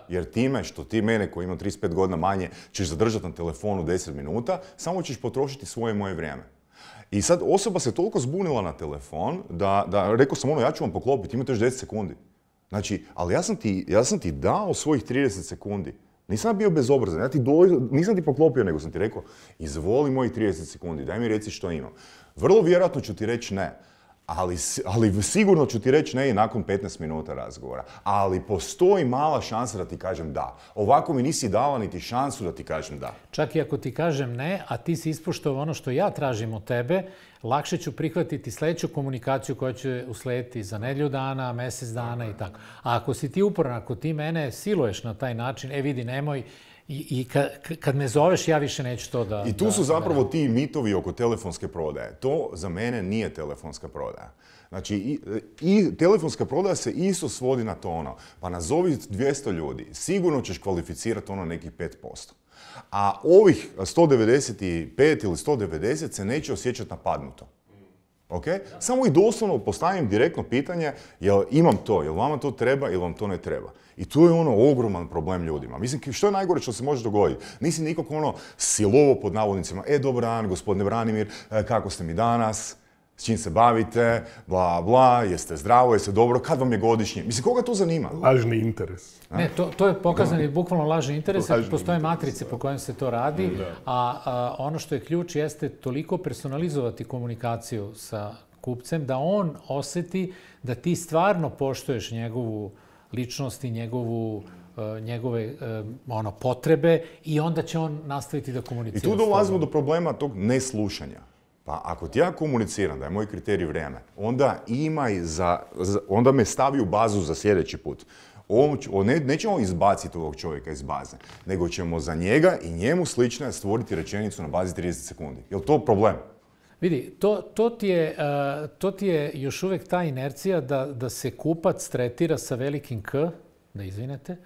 Speaker 1: Jer time što ti mene koji ima trideset pet godina manje ćeš zadržati na telefonu deset minuta, samo ćeš potrošiti svoje moje vrijeme. I sad osoba se toliko zbunila na telefon da, da rekao sam ono, ja ću vam poklopiti, imate još deset sekundi. Znači, ali ja sam ti, ja sam ti dao svojih trideset sekundi. Nisam bio bezobrazan, ja ti do, nisam ti poklopio, nego sam ti rekao, izvoli mojih trideset sekundi, daj mi reci što imam. Vrlo vjerojatno ću ti reći ne. Ali, ali sigurno ću ti reći ne i nakon petnaest minuta razgovora. Ali postoji mala šansa da ti kažem da. Ovako mi nisi dala niti šansu da ti kažem da.
Speaker 4: Čak i ako ti kažem ne, a ti si ispoštovao ono što ja tražim od tebe, lakše ću prihvatiti sljedeću komunikaciju koja će uslediti za nedjelju dana, mjesec dana i tako. A ako si ti uporan, ako ti mene siluješ na taj način, e vidi, nemoj, I, i kad, kad me zoveš, ja više neću to da...
Speaker 1: I tu su zapravo ti mitovi oko telefonske prodaje. To za mene nije telefonska prodaja. Znači, i, i telefonska prodaja se isto svodi na to ono, pa nazovi dvjesto ljudi, sigurno ćeš kvalificirati ono nekih pet posto. A ovih sto devedeset pet ili sto devedeset se neće osjećati napadnuto. Okay? Samo i doslovno postavim direktno pitanje, jel imam to, jel vama to treba ili vam to ne treba. I tu je ono ogroman problem ljudima. Mislim, što je najgore što se može dogoditi? Nisi nikog ono silovo pod navodnicima, e, dobar dan, gospodine Branimir, kako ste mi danas, s čim se bavite, bla, bla, jeste zdravo, jeste dobro, kad vam je godišnje? Mislim, koga to zanima?
Speaker 2: Lažni interes.
Speaker 4: Ne, to, to je pokazan i bukvalno lažni interes, jer postoje matrice po kojem se to radi, a, a ono što je ključ jeste toliko personalizovati komunikaciju sa kupcem da on osjeti da ti stvarno poštuješ njegovu ličnost i njegovu, uh, njegove uh, ono, potrebe i onda će on nastaviti da komunicira.
Speaker 1: I tu dolazimo do problema tog neslušanja. Pa ako ti ja komuniciram da je moj kriterij vrijeme, onda imaj za, za, onda me stavi u bazu za sljedeći put. On, on ne, nećemo izbaciti ovog čovjeka iz baze, nego ćemo za njega i njemu slične stvoriti rečenicu na bazi trideset sekundi. Je li to problem?
Speaker 4: Vidi, to, to, ti je, uh, to ti je još uvijek ta inercija da, da se kupac tretira sa velikim K, da izvinete.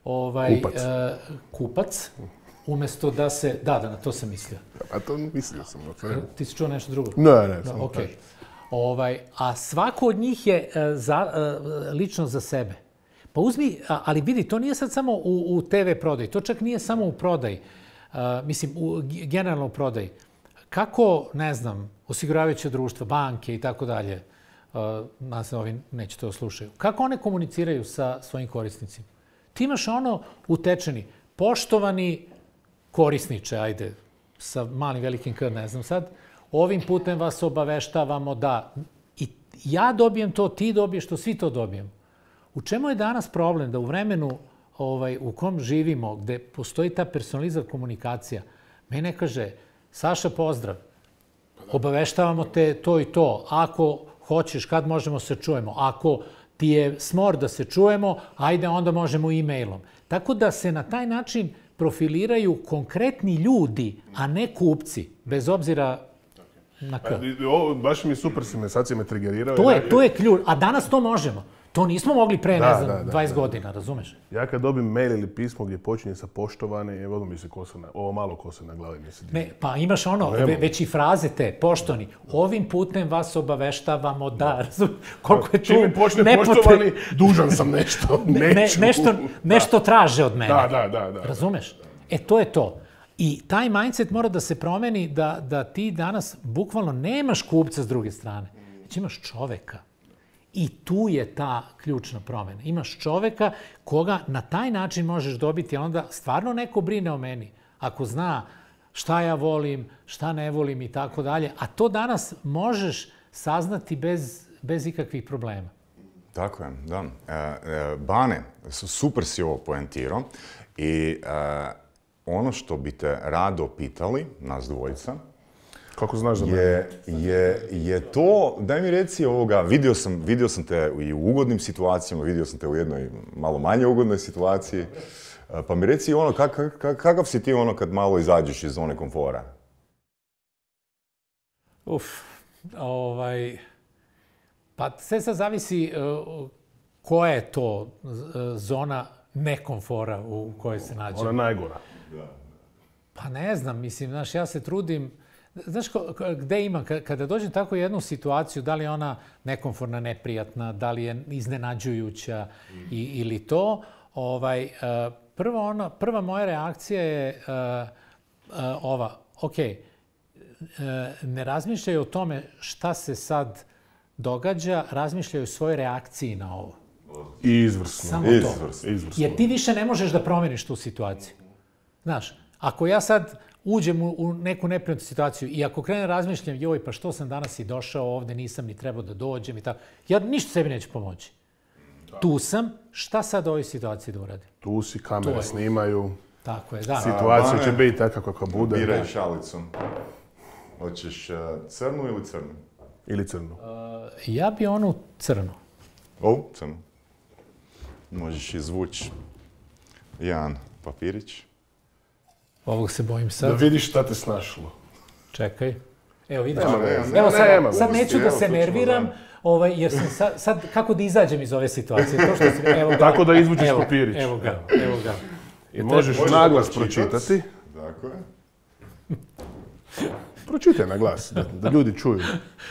Speaker 4: Ovaj,
Speaker 2: kupac.
Speaker 4: Uh, kupac. Umjesto da se... Da, da, na to sam mislio.
Speaker 2: A to mislio sam. Ne.
Speaker 4: Ti si čuo nešto drugo?
Speaker 2: Ne, ne, samo
Speaker 4: okay. Ovaj, a svako od njih je uh, za, uh, lično za sebe. Pa uzmi, a, ali vidi, to nije sad samo u, u te ve prodaji, to čak nije samo u prodaji. Uh, mislim, u generalno u prodaji. Kako, ne znam, osiguravajuće društva, banke i tako dalje, uh, nas ovi neće to slušaju, kako one komuniciraju sa svojim korisnicima? Ti imaš ono utečeni, poštovani korisniče, ajde, sa malim velikim K, ne znam sad, ovim putem vas obaveštavamo da i ja dobijem to, ti dobiješ to, svi to dobijemo. U čemu je danas problem da u vremenu ovaj, u kom živimo, gde postoji ta personalizirana komunikacija, mene kaže, Saša, pozdrav, obaveštavamo te to i to, ako hoćeš, kad možemo se čujemo, ako ti je smor da se čujemo, ajde onda možemo e-mailom. Tako da se na taj način profiliraju konkretni ljudi, a ne kupci, bez obzira na K.
Speaker 2: Ovo, baš mi super si me, sad si me trigerirao.
Speaker 4: To je, to je ključ, a danas to možemo. To nismo mogli pre,
Speaker 2: Da,
Speaker 4: ne znam,
Speaker 2: da, da,
Speaker 4: dvadeset
Speaker 2: da.
Speaker 4: godina, razumeš?
Speaker 2: Ja kad dobim mail ili pismo gdje počinje sa poštovani, evo mi se kosa na, ovo malo kose na glavi mi se diže.
Speaker 4: Ne, pa imaš ono, ve, već i fraze te, poštovani, ovim putem vas obaveštavamo da, razumeš, koliko je tu
Speaker 2: Čim mi počne
Speaker 4: nepotre-
Speaker 2: poštovani, dužan sam nešto,
Speaker 4: ne,
Speaker 2: neću.
Speaker 4: nešto, nešto traže od mene.
Speaker 2: Da, da, da, da.
Speaker 4: Razumeš? E, to je to. I taj mindset mora da se promeni da, da ti danas bukvalno nemaš kupca s druge strane, već imaš čoveka. I tu je ta ključna promjena. Imaš čoveka koga na taj način možeš dobiti, a onda stvarno neko brine o meni. Ako zna šta ja volim, šta ne volim i tako dalje. A to danas možeš saznati bez, bez ikakvih problema.
Speaker 1: Tako je, da. E, e, Bane, su- super si ovo poentirao i e, ono što bi te rado pitali, nas dvojica,
Speaker 2: Kako znaš za mene?
Speaker 1: je, je, je to, daj mi reci ovoga, vidio sam, vidio sam te i u ugodnim situacijama, vidio sam te u jednoj malo manje ugodnoj situaciji, e, pa mi reci ono, kak, kak, kakav si ti ono kad malo izađeš iz zone komfora?
Speaker 4: Uf, ovaj, pa sve sad zavisi uh, koja je to uh, zona nekomfora u kojoj se nađemo.
Speaker 2: Ona najgora.
Speaker 4: Pa ne znam, mislim, znaš, ja se trudim, znaš, ko, ko- gde imam, Ka- kada dođem u takvu jednu situaciju, da li je ona nekomforna, neprijatna, da li je iznenađujuća i, ili to, ovaj, uh, prva, ona, prva moja reakcija je uh, uh, ova, ok, ne razmišljaju o tome šta se sad događa, razmišljaju o svojoj reakciji na ovo.
Speaker 2: Izvrsno.
Speaker 4: Samo to.
Speaker 1: Izvrsno.
Speaker 2: Izvrsno.
Speaker 4: Jer ti više ne možeš da promeniš tu situaciju. Znaš, ako ja sad uđem u, u neku neprijatnu situaciju i ako krenem razmišljam, joj, pa što sam danas i došao ovde, nisam ni trebao da dođem i tako, ja ništa sebi neću pomoći. Tu sam, šta sad u ovoj situaciji da uradim?
Speaker 2: Tu si,
Speaker 4: To
Speaker 2: kamere
Speaker 4: je.
Speaker 2: snimaju,
Speaker 4: Tako je, da.
Speaker 2: situacija
Speaker 1: Bane,
Speaker 2: će biti takva kakva bude.
Speaker 1: Biraj šalicu. Hoćeš e, crnu ili crnu?
Speaker 2: Ili crnu.
Speaker 4: Ja bi onu crnu.
Speaker 1: O, crnu. Možeš izvući jedan papirić.
Speaker 4: Ovog se bojim
Speaker 2: Da
Speaker 4: sad.
Speaker 2: vidiš šta te snašlo.
Speaker 4: Čekaj. Evo, vidiš.
Speaker 2: Nema veze.
Speaker 4: Evo, sad,
Speaker 2: Nema
Speaker 4: sad
Speaker 2: veze.
Speaker 4: neću da
Speaker 1: Evo,
Speaker 4: se
Speaker 1: tu ćemo
Speaker 4: nerviram,
Speaker 1: da-
Speaker 4: ovaj, jer sam sad, sad, kako da izađem iz ove situacije? To što si, evo ga,
Speaker 2: Tako da izvučeš
Speaker 4: evo,
Speaker 2: papirić.
Speaker 4: Evo ga, evo ga.
Speaker 2: I možeš
Speaker 1: Možeš
Speaker 2: naglas
Speaker 1: pročitat.
Speaker 2: pročitati.
Speaker 1: Tako je.
Speaker 2: Pročitaj na glas, da, da ljudi čuju.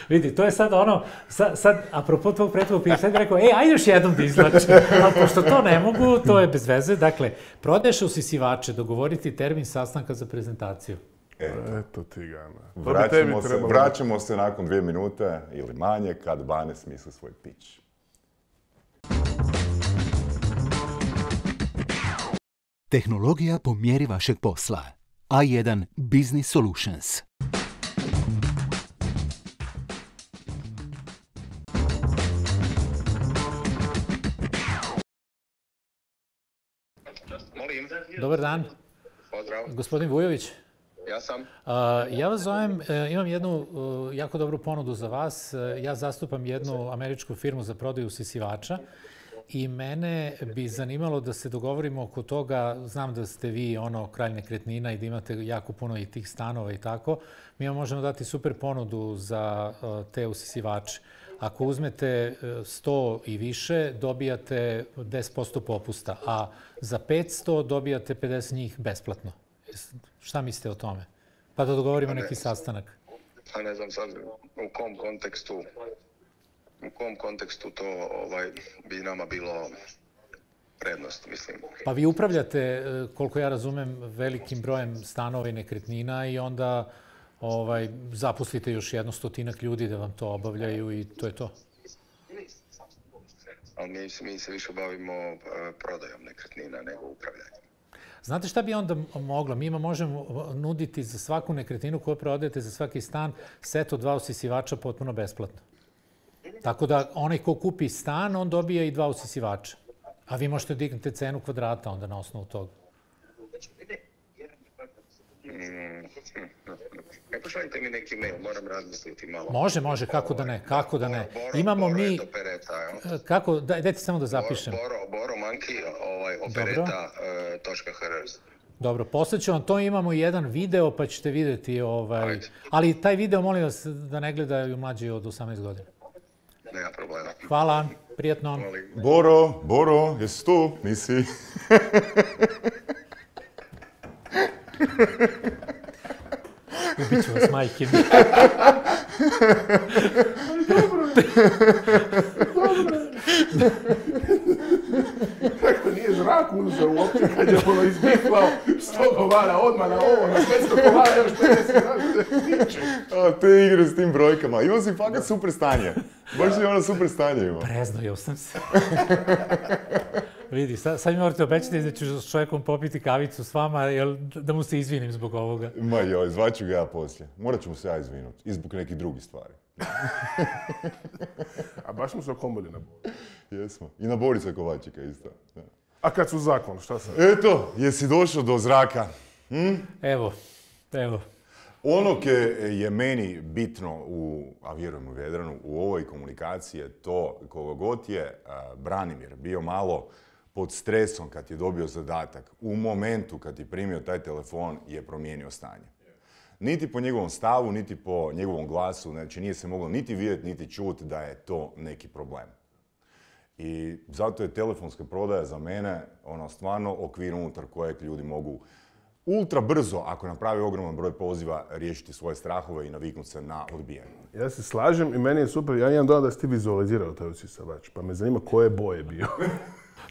Speaker 4: Vidi, to je sad ono, sad, sad apropo tvog prethodnog pitanja, sad bih rekao, e, ajde još jednom da izlačim. Ali pošto to ne mogu, to je bez veze. Dakle, prodaješ usisivače, dogovoriti termin sastanka za prezentaciju.
Speaker 2: Eto ti gana. To bi
Speaker 1: Vraćamo
Speaker 2: tebi
Speaker 1: se,
Speaker 2: trebalo.
Speaker 1: vraćamo se nakon dvije minute ili manje kad Bane smisli svoj pitch.
Speaker 3: Tehnologija po mjeri vašeg posla. A jedan Business Solutions.
Speaker 6: Molim,
Speaker 4: Dobar dan,
Speaker 6: pozdrav,
Speaker 4: gospodin Vujović.
Speaker 6: ja sam.
Speaker 4: A, ja vas zovem, e, imam jednu e, jako dobru ponudu za vas. E, Ja zastupam jednu američku firmu za prodaju usisivača i mene bi zanimalo da se dogovorimo oko toga. Znam da ste vi ono kralj nekretnina i da imate jako puno i tih stanova i tako. Mi vam možemo dati super ponudu za e, te usisivače. Ako uzmete e, sto i više, dobijate deset posto popusta, a za petsto dobijate pedeset njih besplatno. Jes- Šta mislite o tome? Pa da dogovorimo neki sastanak.
Speaker 6: A ne znam sad u kom kontekstu, u kom kontekstu to ovaj, bi nama bilo prednost, mislim.
Speaker 4: Pa vi upravljate, e, koliko ja razumem, velikim brojem stanova i nekretnina i onda ovaj, zaposlite još jedno stotinak ljudi da vam to obavljaju i to je to.
Speaker 6: Ali mi, mi se više bavimo eh, prodajom nekretnina nego upravljanjem.
Speaker 4: Znate šta bi onda moglo? Mi možemo nuditi za svaku nekretninu koju prodajete, za svaki stan, set od dva usisivača potpuno besplatno. Tako da onaj ko kupi stan, on dobije i dva usisivača. A vi možete dignete cenu kvadrata onda na osnovu toga.
Speaker 6: E, pošaljite mi neki mail, moram razmisliti malo.
Speaker 4: Može, može, kako da ne, kako da ne. Imamo mi... Kako, dajte samo da zapišem.
Speaker 6: Boro Manki, opereta točka hr.
Speaker 4: Dobro, poslaću vam to, imamo jedan video pa ćete vidjeti, ali taj video molim vas da ne gledaju mlađi od osamnaest godina.
Speaker 6: Nema problema.
Speaker 4: Hvala, prijatno.
Speaker 1: Boro, Boro, jesi tu? Nisi?
Speaker 4: Ubit ću vas, majke mi.
Speaker 2: Dobro. Dobro. Kako nije zrak uzeo uopće kad je ono izbiflao sto kovara odmah na ovo, na petsto kovara još pedeset.
Speaker 1: A te igre s tim brojkama. Imao si fakat super stanje. Baš si ono super stanje imao.
Speaker 4: Preznojio sam se. Vidi, sad, sad mi morate obećati da ću s čovjekom popiti kavicu s vama, jel, da mu se izvinim zbog ovoga.
Speaker 1: Ma joj, zvaću ga ja poslije. Morat ću mu se ja izvinuti. I zbog nekih drugih stvari.
Speaker 2: A baš smo se okomili na Boricu.
Speaker 1: Jesmo. I na Borisa Kovačika isto. Da.
Speaker 2: A kad su zakon, šta sad?
Speaker 1: Eto, jesi došao do zraka? Hm?
Speaker 4: Evo, evo.
Speaker 1: Ono ke je meni bitno, u, a vjerujem u Vedranu, u ovoj komunikaciji je to koga god je a, Branimir bio malo pod stresom kad je dobio zadatak, u momentu kad je primio taj telefon je promijenio stanje. Niti po njegovom stavu, niti po njegovom glasu, znači nije se moglo niti vidjeti, niti čuti da je to neki problem. I zato je telefonska prodaja za mene ono stvarno okvir unutar kojeg ljudi mogu ultra brzo, ako napravi ogroman broj poziva, riješiti svoje strahove i naviknuti se na odbijanje.
Speaker 2: Ja se slažem i meni je super, ja imam dojam da si ti vizualizirao taj usisavač, pa me zanima koje boje bio.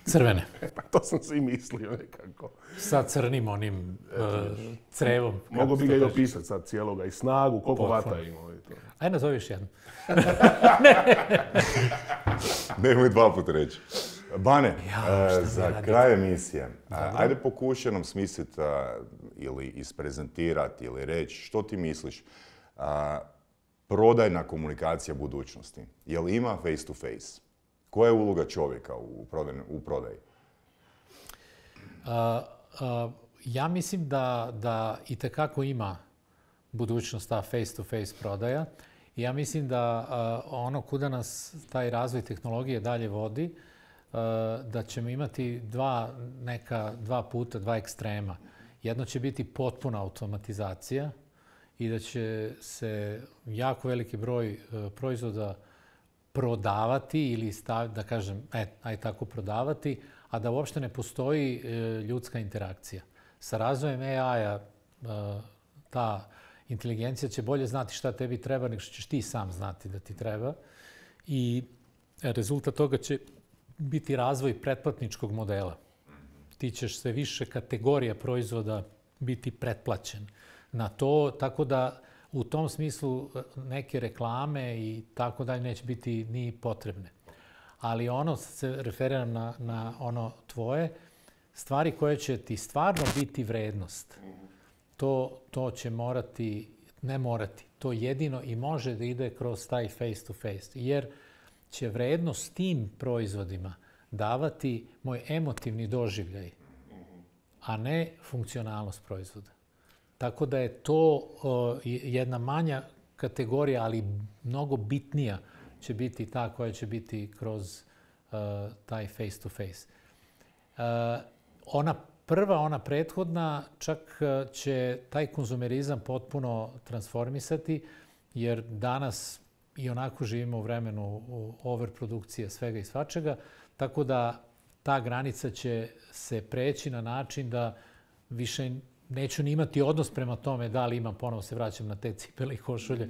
Speaker 4: Crvene.
Speaker 2: Pa to sam si i mislio nekako.
Speaker 4: Sa crnim onim uh, crevom.
Speaker 2: Mogu bi ga i opisati sad cijeloga i snagu, koliko vata imao i to.
Speaker 4: Ajde, nazovi još jednu.
Speaker 1: Nemoj dva puta reći. Bane, ja, uh, za kraj emisije, uh, ajde pokušaj nam smisliti uh, ili isprezentirati ili reći što ti misliš uh, prodajna komunikacija budućnosti. Je li ima face to face? Koja je uloga čovjeka u prodaji? U prodaji?
Speaker 4: Uh, uh, ja mislim da, da itekako ima budućnost ta face to face prodaja. I ja mislim da uh, ono kuda nas taj razvoj tehnologije dalje vodi, uh, da ćemo imati dva, neka, dva puta, dva ekstrema. Jedno će biti potpuna automatizacija i da će se jako veliki broj uh, proizvoda prodavati ili stav, da kažem, e, aj tako prodavati, a da uopšte ne postoji e, ljudska interakcija. Sa razvojem A I-a e, ta inteligencija će bolje znati šta tebi treba nego što ćeš ti sam znati da ti treba. I rezultat toga će biti razvoj pretplatničkog modela. Ti ćeš sve više kategorija proizvoda biti pretplaćen na to, tako da u tom smislu neke reklame i tako dalje neće biti ni potrebne. Ali ono, se referiram na, na ono tvoje, stvari koje će ti stvarno biti vrednost, to, to će morati, ne morati, to jedino i može da ide kroz taj face to face. Jer će vrednost tim proizvodima davati moj emotivni doživljaj, a ne funkcionalnost proizvoda. Tako da je to uh, jedna manja kategorija, ali mnogo bitnija će biti ta koja će biti kroz uh, taj face to face. Uh, ona prva, ona prethodna, čak uh, će taj konzumerizam potpuno transformisati, jer danas i onako živimo u vremenu overprodukcije svega i svačega, tako da ta granica će se preći na način da više neću ni imati odnos prema tome da li imam, ponovo se vraćam na te cipele i košulje,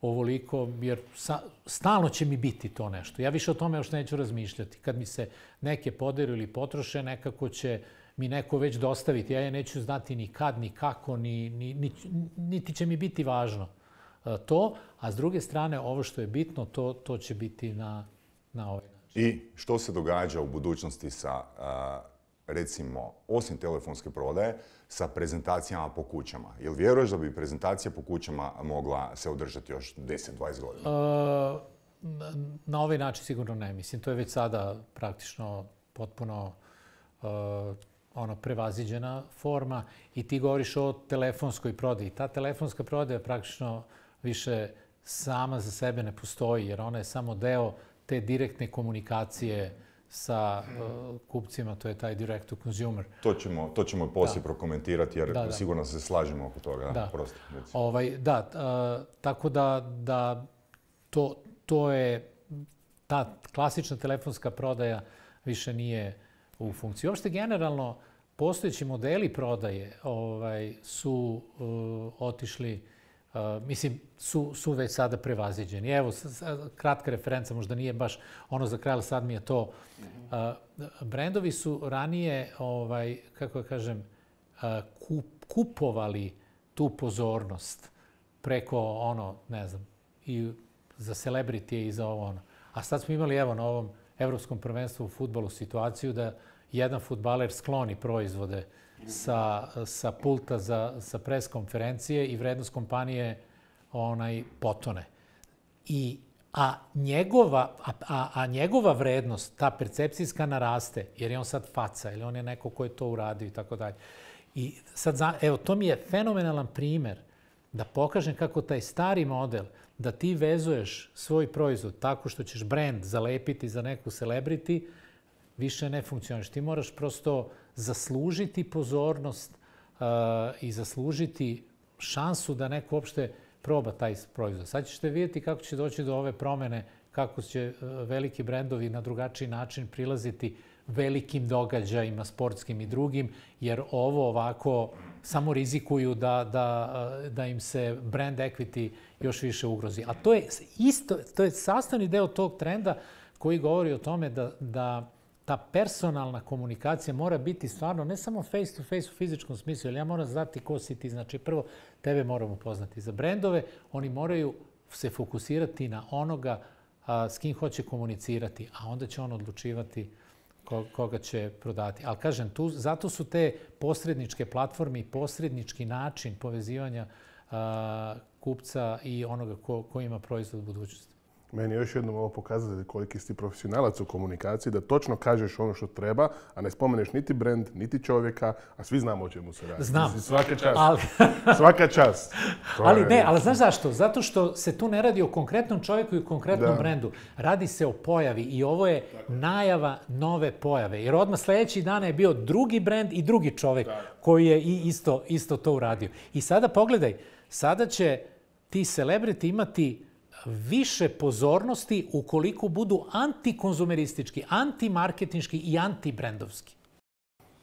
Speaker 4: ovoliko, jer sa, stalno će mi biti to nešto. Ja više o tome još neću razmišljati. Kad mi se neke poderu ili potroše, nekako će mi neko već dostaviti. Ja je neću znati ni kad, ni kako, ni, ni, ni, niti će mi biti važno to. A s druge strane, ovo što je bitno, to, to će biti na, na ovaj način.
Speaker 1: I što se događa u budućnosti sa uh, recimo, osim telefonske prodaje, sa prezentacijama po kućama? Jel vjeruješ da bi prezentacija po kućama mogla se održati još deset do dvadeset godina?
Speaker 4: Uh, na ovaj način sigurno ne. Mislim, to je već sada praktično potpuno uh, ono prevaziđena forma i ti govoriš o telefonskoj prodaji. Ta telefonska prodaja praktično više sama za sebe ne postoji, jer ona je samo deo te direktne komunikacije sa uh, kupcima, to je taj direct to consumer.
Speaker 1: To ćemo, to ćemo poslije prokomentirati, jer
Speaker 4: da, da.
Speaker 1: sigurno se slažemo oko toga.
Speaker 4: Da,
Speaker 1: Prosto,
Speaker 4: ovaj, da uh, tako da, da to, to je, ta klasična telefonska prodaja više nije u funkciji. Uopšte generalno, postojeći modeli prodaje ovaj, su uh, otišli, uh, mislim, su, su već sada prevaziđeni. Evo, kratka referenca, možda nije baš ono za kraj, ali sad mi je to. Uh, brendovi su ranije, ovaj, kako da kažem, uh, kup, kupovali tu pozornost preko ono, ne znam, i za celebrity i za ovo ono. A sad smo imali, evo, na ovom Evropskom prvenstvu u fudbalu situaciju da jedan fudbaler skloni proizvode sa, sa pulta za, sa pres konferencije i vrednost kompanije onaj potone. I, a, njegova, a, a, a njegova vrednost, ta percepcijska, naraste, jer je on sad faca ili on je neko ko je to uradio i tako dalje. I sad, evo, to mi je fenomenalan primer da pokažem kako taj stari model da ti vezuješ svoj proizvod tako što ćeš brand zalepiti za neku celebrity, više ne funkcioniš. Ti moraš prosto zaslužiti pozornost uh, i zaslužiti šansu da neko uopšte proba taj proizvod. Sad ćete vidjeti kako će doći do ove promene, kako će uh, veliki brendovi na drugačiji način prilaziti velikim događajima, sportskim i drugim, jer ovo ovako samo rizikuju da, da, da im se brand equity još više ugrozi. A to je isto, to je sastavni deo tog trenda koji govori o tome da, da ta personalna komunikacija mora biti stvarno ne samo face to face u fizičkom smislu, jer ja moram znati ko si ti. Znači, prvo, tebe moramo poznati. Za brendove oni moraju se fokusirati na onoga a, s kim hoće komunicirati, a onda će on odlučivati koga će prodati. Ali kažem, tu, zato su te posredničke platforme i posrednički način povezivanja a, kupca i onoga ko, ko ima proizvod budućnosti.
Speaker 2: Meni je još jednom ovo pokazati koliki si ti profesionalac u komunikaciji, da točno kažeš ono što treba, a ne spomeneš niti brand, niti čovjeka, a svi znamo o čemu se radi.
Speaker 4: Znam.
Speaker 2: Svaka čast.
Speaker 4: Ali,
Speaker 2: Svaka čast.
Speaker 4: Ali ne, ali znaš zašto? Zato što se tu ne radi o konkretnom čovjeku i o konkretnom
Speaker 2: da.
Speaker 4: brendu. Radi se o pojavi i ovo je najava nove pojave. Jer odmah sljedeći dana je bio drugi brend i drugi čovjek da. koji je i isto, isto to uradio. I sada pogledaj, sada će ti celebrity imati više pozornosti ukoliko budu antikonzumeristički, antimarketinški i antibrendovski.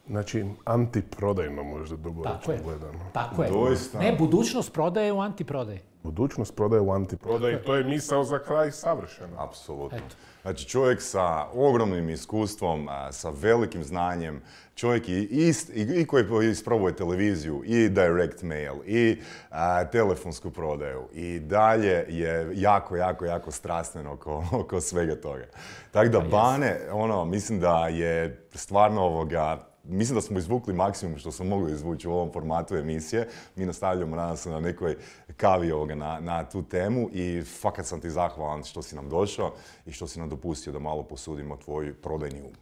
Speaker 2: Znači, antiprodajno možda dugoročno gledano.
Speaker 4: Tako je.
Speaker 1: Doista.
Speaker 4: Ne, budućnost prodaje u antiprodaji.
Speaker 2: Budućnost prodaje u antiprodaji. To je misao za kraj savršeno.
Speaker 1: Apsolutno.
Speaker 4: Eto.
Speaker 1: Znači, čovjek sa ogromnim iskustvom, sa velikim znanjem, čovjek i, ist, i, i koji isprobuje televiziju, i direct mail, i a, telefonsku prodaju, i dalje je jako, jako, jako strastven oko, oko svega toga. Tako da, Bane, ono, mislim da je stvarno ovoga, mislim da smo izvukli maksimum što smo mogli izvući u ovom formatu emisije. Mi nastavljamo, nadam se, na nekoj kavi ovoga na, na tu temu i fakat sam ti zahvalan što si nam došao i što si nam dopustio da malo posudimo tvoj prodajni um.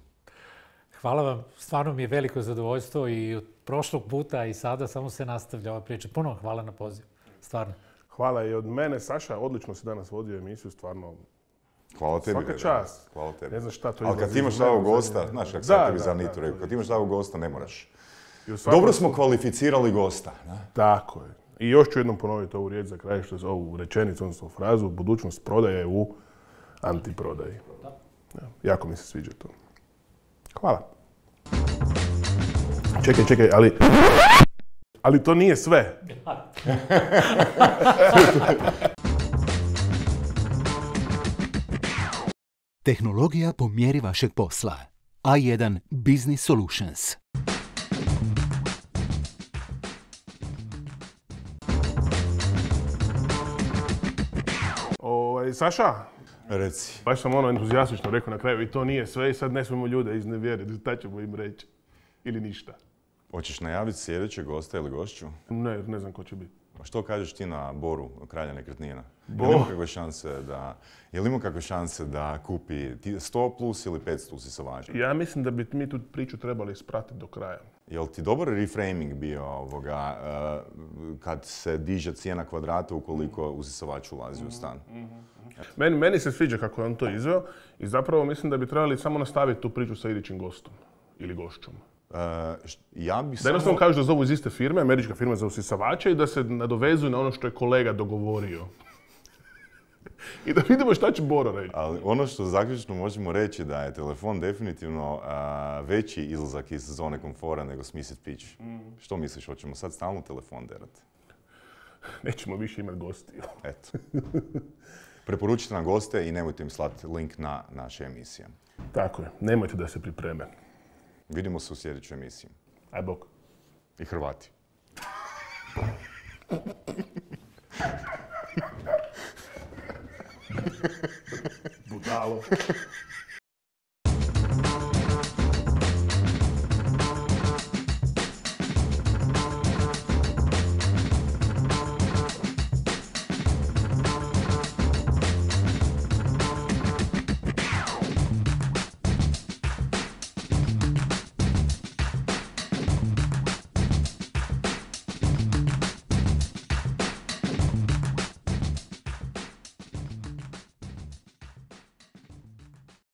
Speaker 4: Hvala vam, stvarno mi je veliko zadovoljstvo i od prošlog puta i sada samo se nastavlja ova priča. Puno hvala na poziv, stvarno.
Speaker 2: Hvala i od mene, Saša, odlično si danas vodio emisiju, stvarno.
Speaker 1: Hvala tebi.
Speaker 2: Svaka čast.
Speaker 1: Hvala tebi.
Speaker 2: Ne znaš šta to
Speaker 1: ali kad ti imaš ovog gosta, znaš kako sam tebi za Nitu rekao, kad ti imaš ovog gosta ne moraš. Dobro smo kvalificirali gosta. Ne?
Speaker 2: Tako je. I još ću jednom ponoviti ovu riječ za kraj, što je ovu rečenicu, odnosno frazu, budućnost prodaje u antiprodaji. Ja, jako mi se sviđa to. Hvala. Čekaj, čekaj, ali... Ali to nije sve.
Speaker 3: Tehnologija po mjeri vašeg posla. A jedan Business Solutions.
Speaker 2: Ovaj, Saša,
Speaker 1: reci.
Speaker 2: Baš sam ono entuzijastično rekao na kraju i to nije sve i sad ne smijemo ljude iznevjeriti, šta ćemo im reći? ili ništa.
Speaker 1: Hoćeš najaviti sljedećeg gosta ili gošću?
Speaker 2: Ne, ne znam ko će biti.
Speaker 1: A što kažeš ti na Boru, kralja nekretnina?
Speaker 2: Bo.
Speaker 1: Je li ima kakve šanse da, je li ima kakve šanse da kupi ti sto plus ili petsto usisavača?
Speaker 2: Ja mislim da bi mi tu priču trebali ispratiti do kraja.
Speaker 1: Jel ti dobar reframing bio ovoga, uh, kad se diže cijena kvadrata ukoliko usisavač ulazi u stan?
Speaker 2: Meni, meni se sviđa kako je on to izveo i zapravo mislim da bi trebali samo nastaviti tu priču sa idućim gostom ili gošćom.
Speaker 1: Uh, št- ja bi
Speaker 2: Da
Speaker 1: samo...
Speaker 2: jednostavno kažu da zovu iz iste firme, američka firma za usisavače i da se nadovezuju na ono što je kolega dogovorio. I da vidimo šta će Boro reći.
Speaker 1: Ali ono što zaključno možemo reći da je telefon definitivno a, veći izlazak iz zone komfora nego smislit pitch. Što misliš, hoćemo sad stalno telefon derati?
Speaker 2: Nećemo više imati gostiju.
Speaker 1: Eto. Preporučite nam goste i nemojte im slati link na naše emisije.
Speaker 2: Tako je, nemojte da se pripreme.
Speaker 1: Vidimo se u sljedećoj emisiji.
Speaker 2: Aj bok.
Speaker 1: I Hrvati.
Speaker 2: Budalo.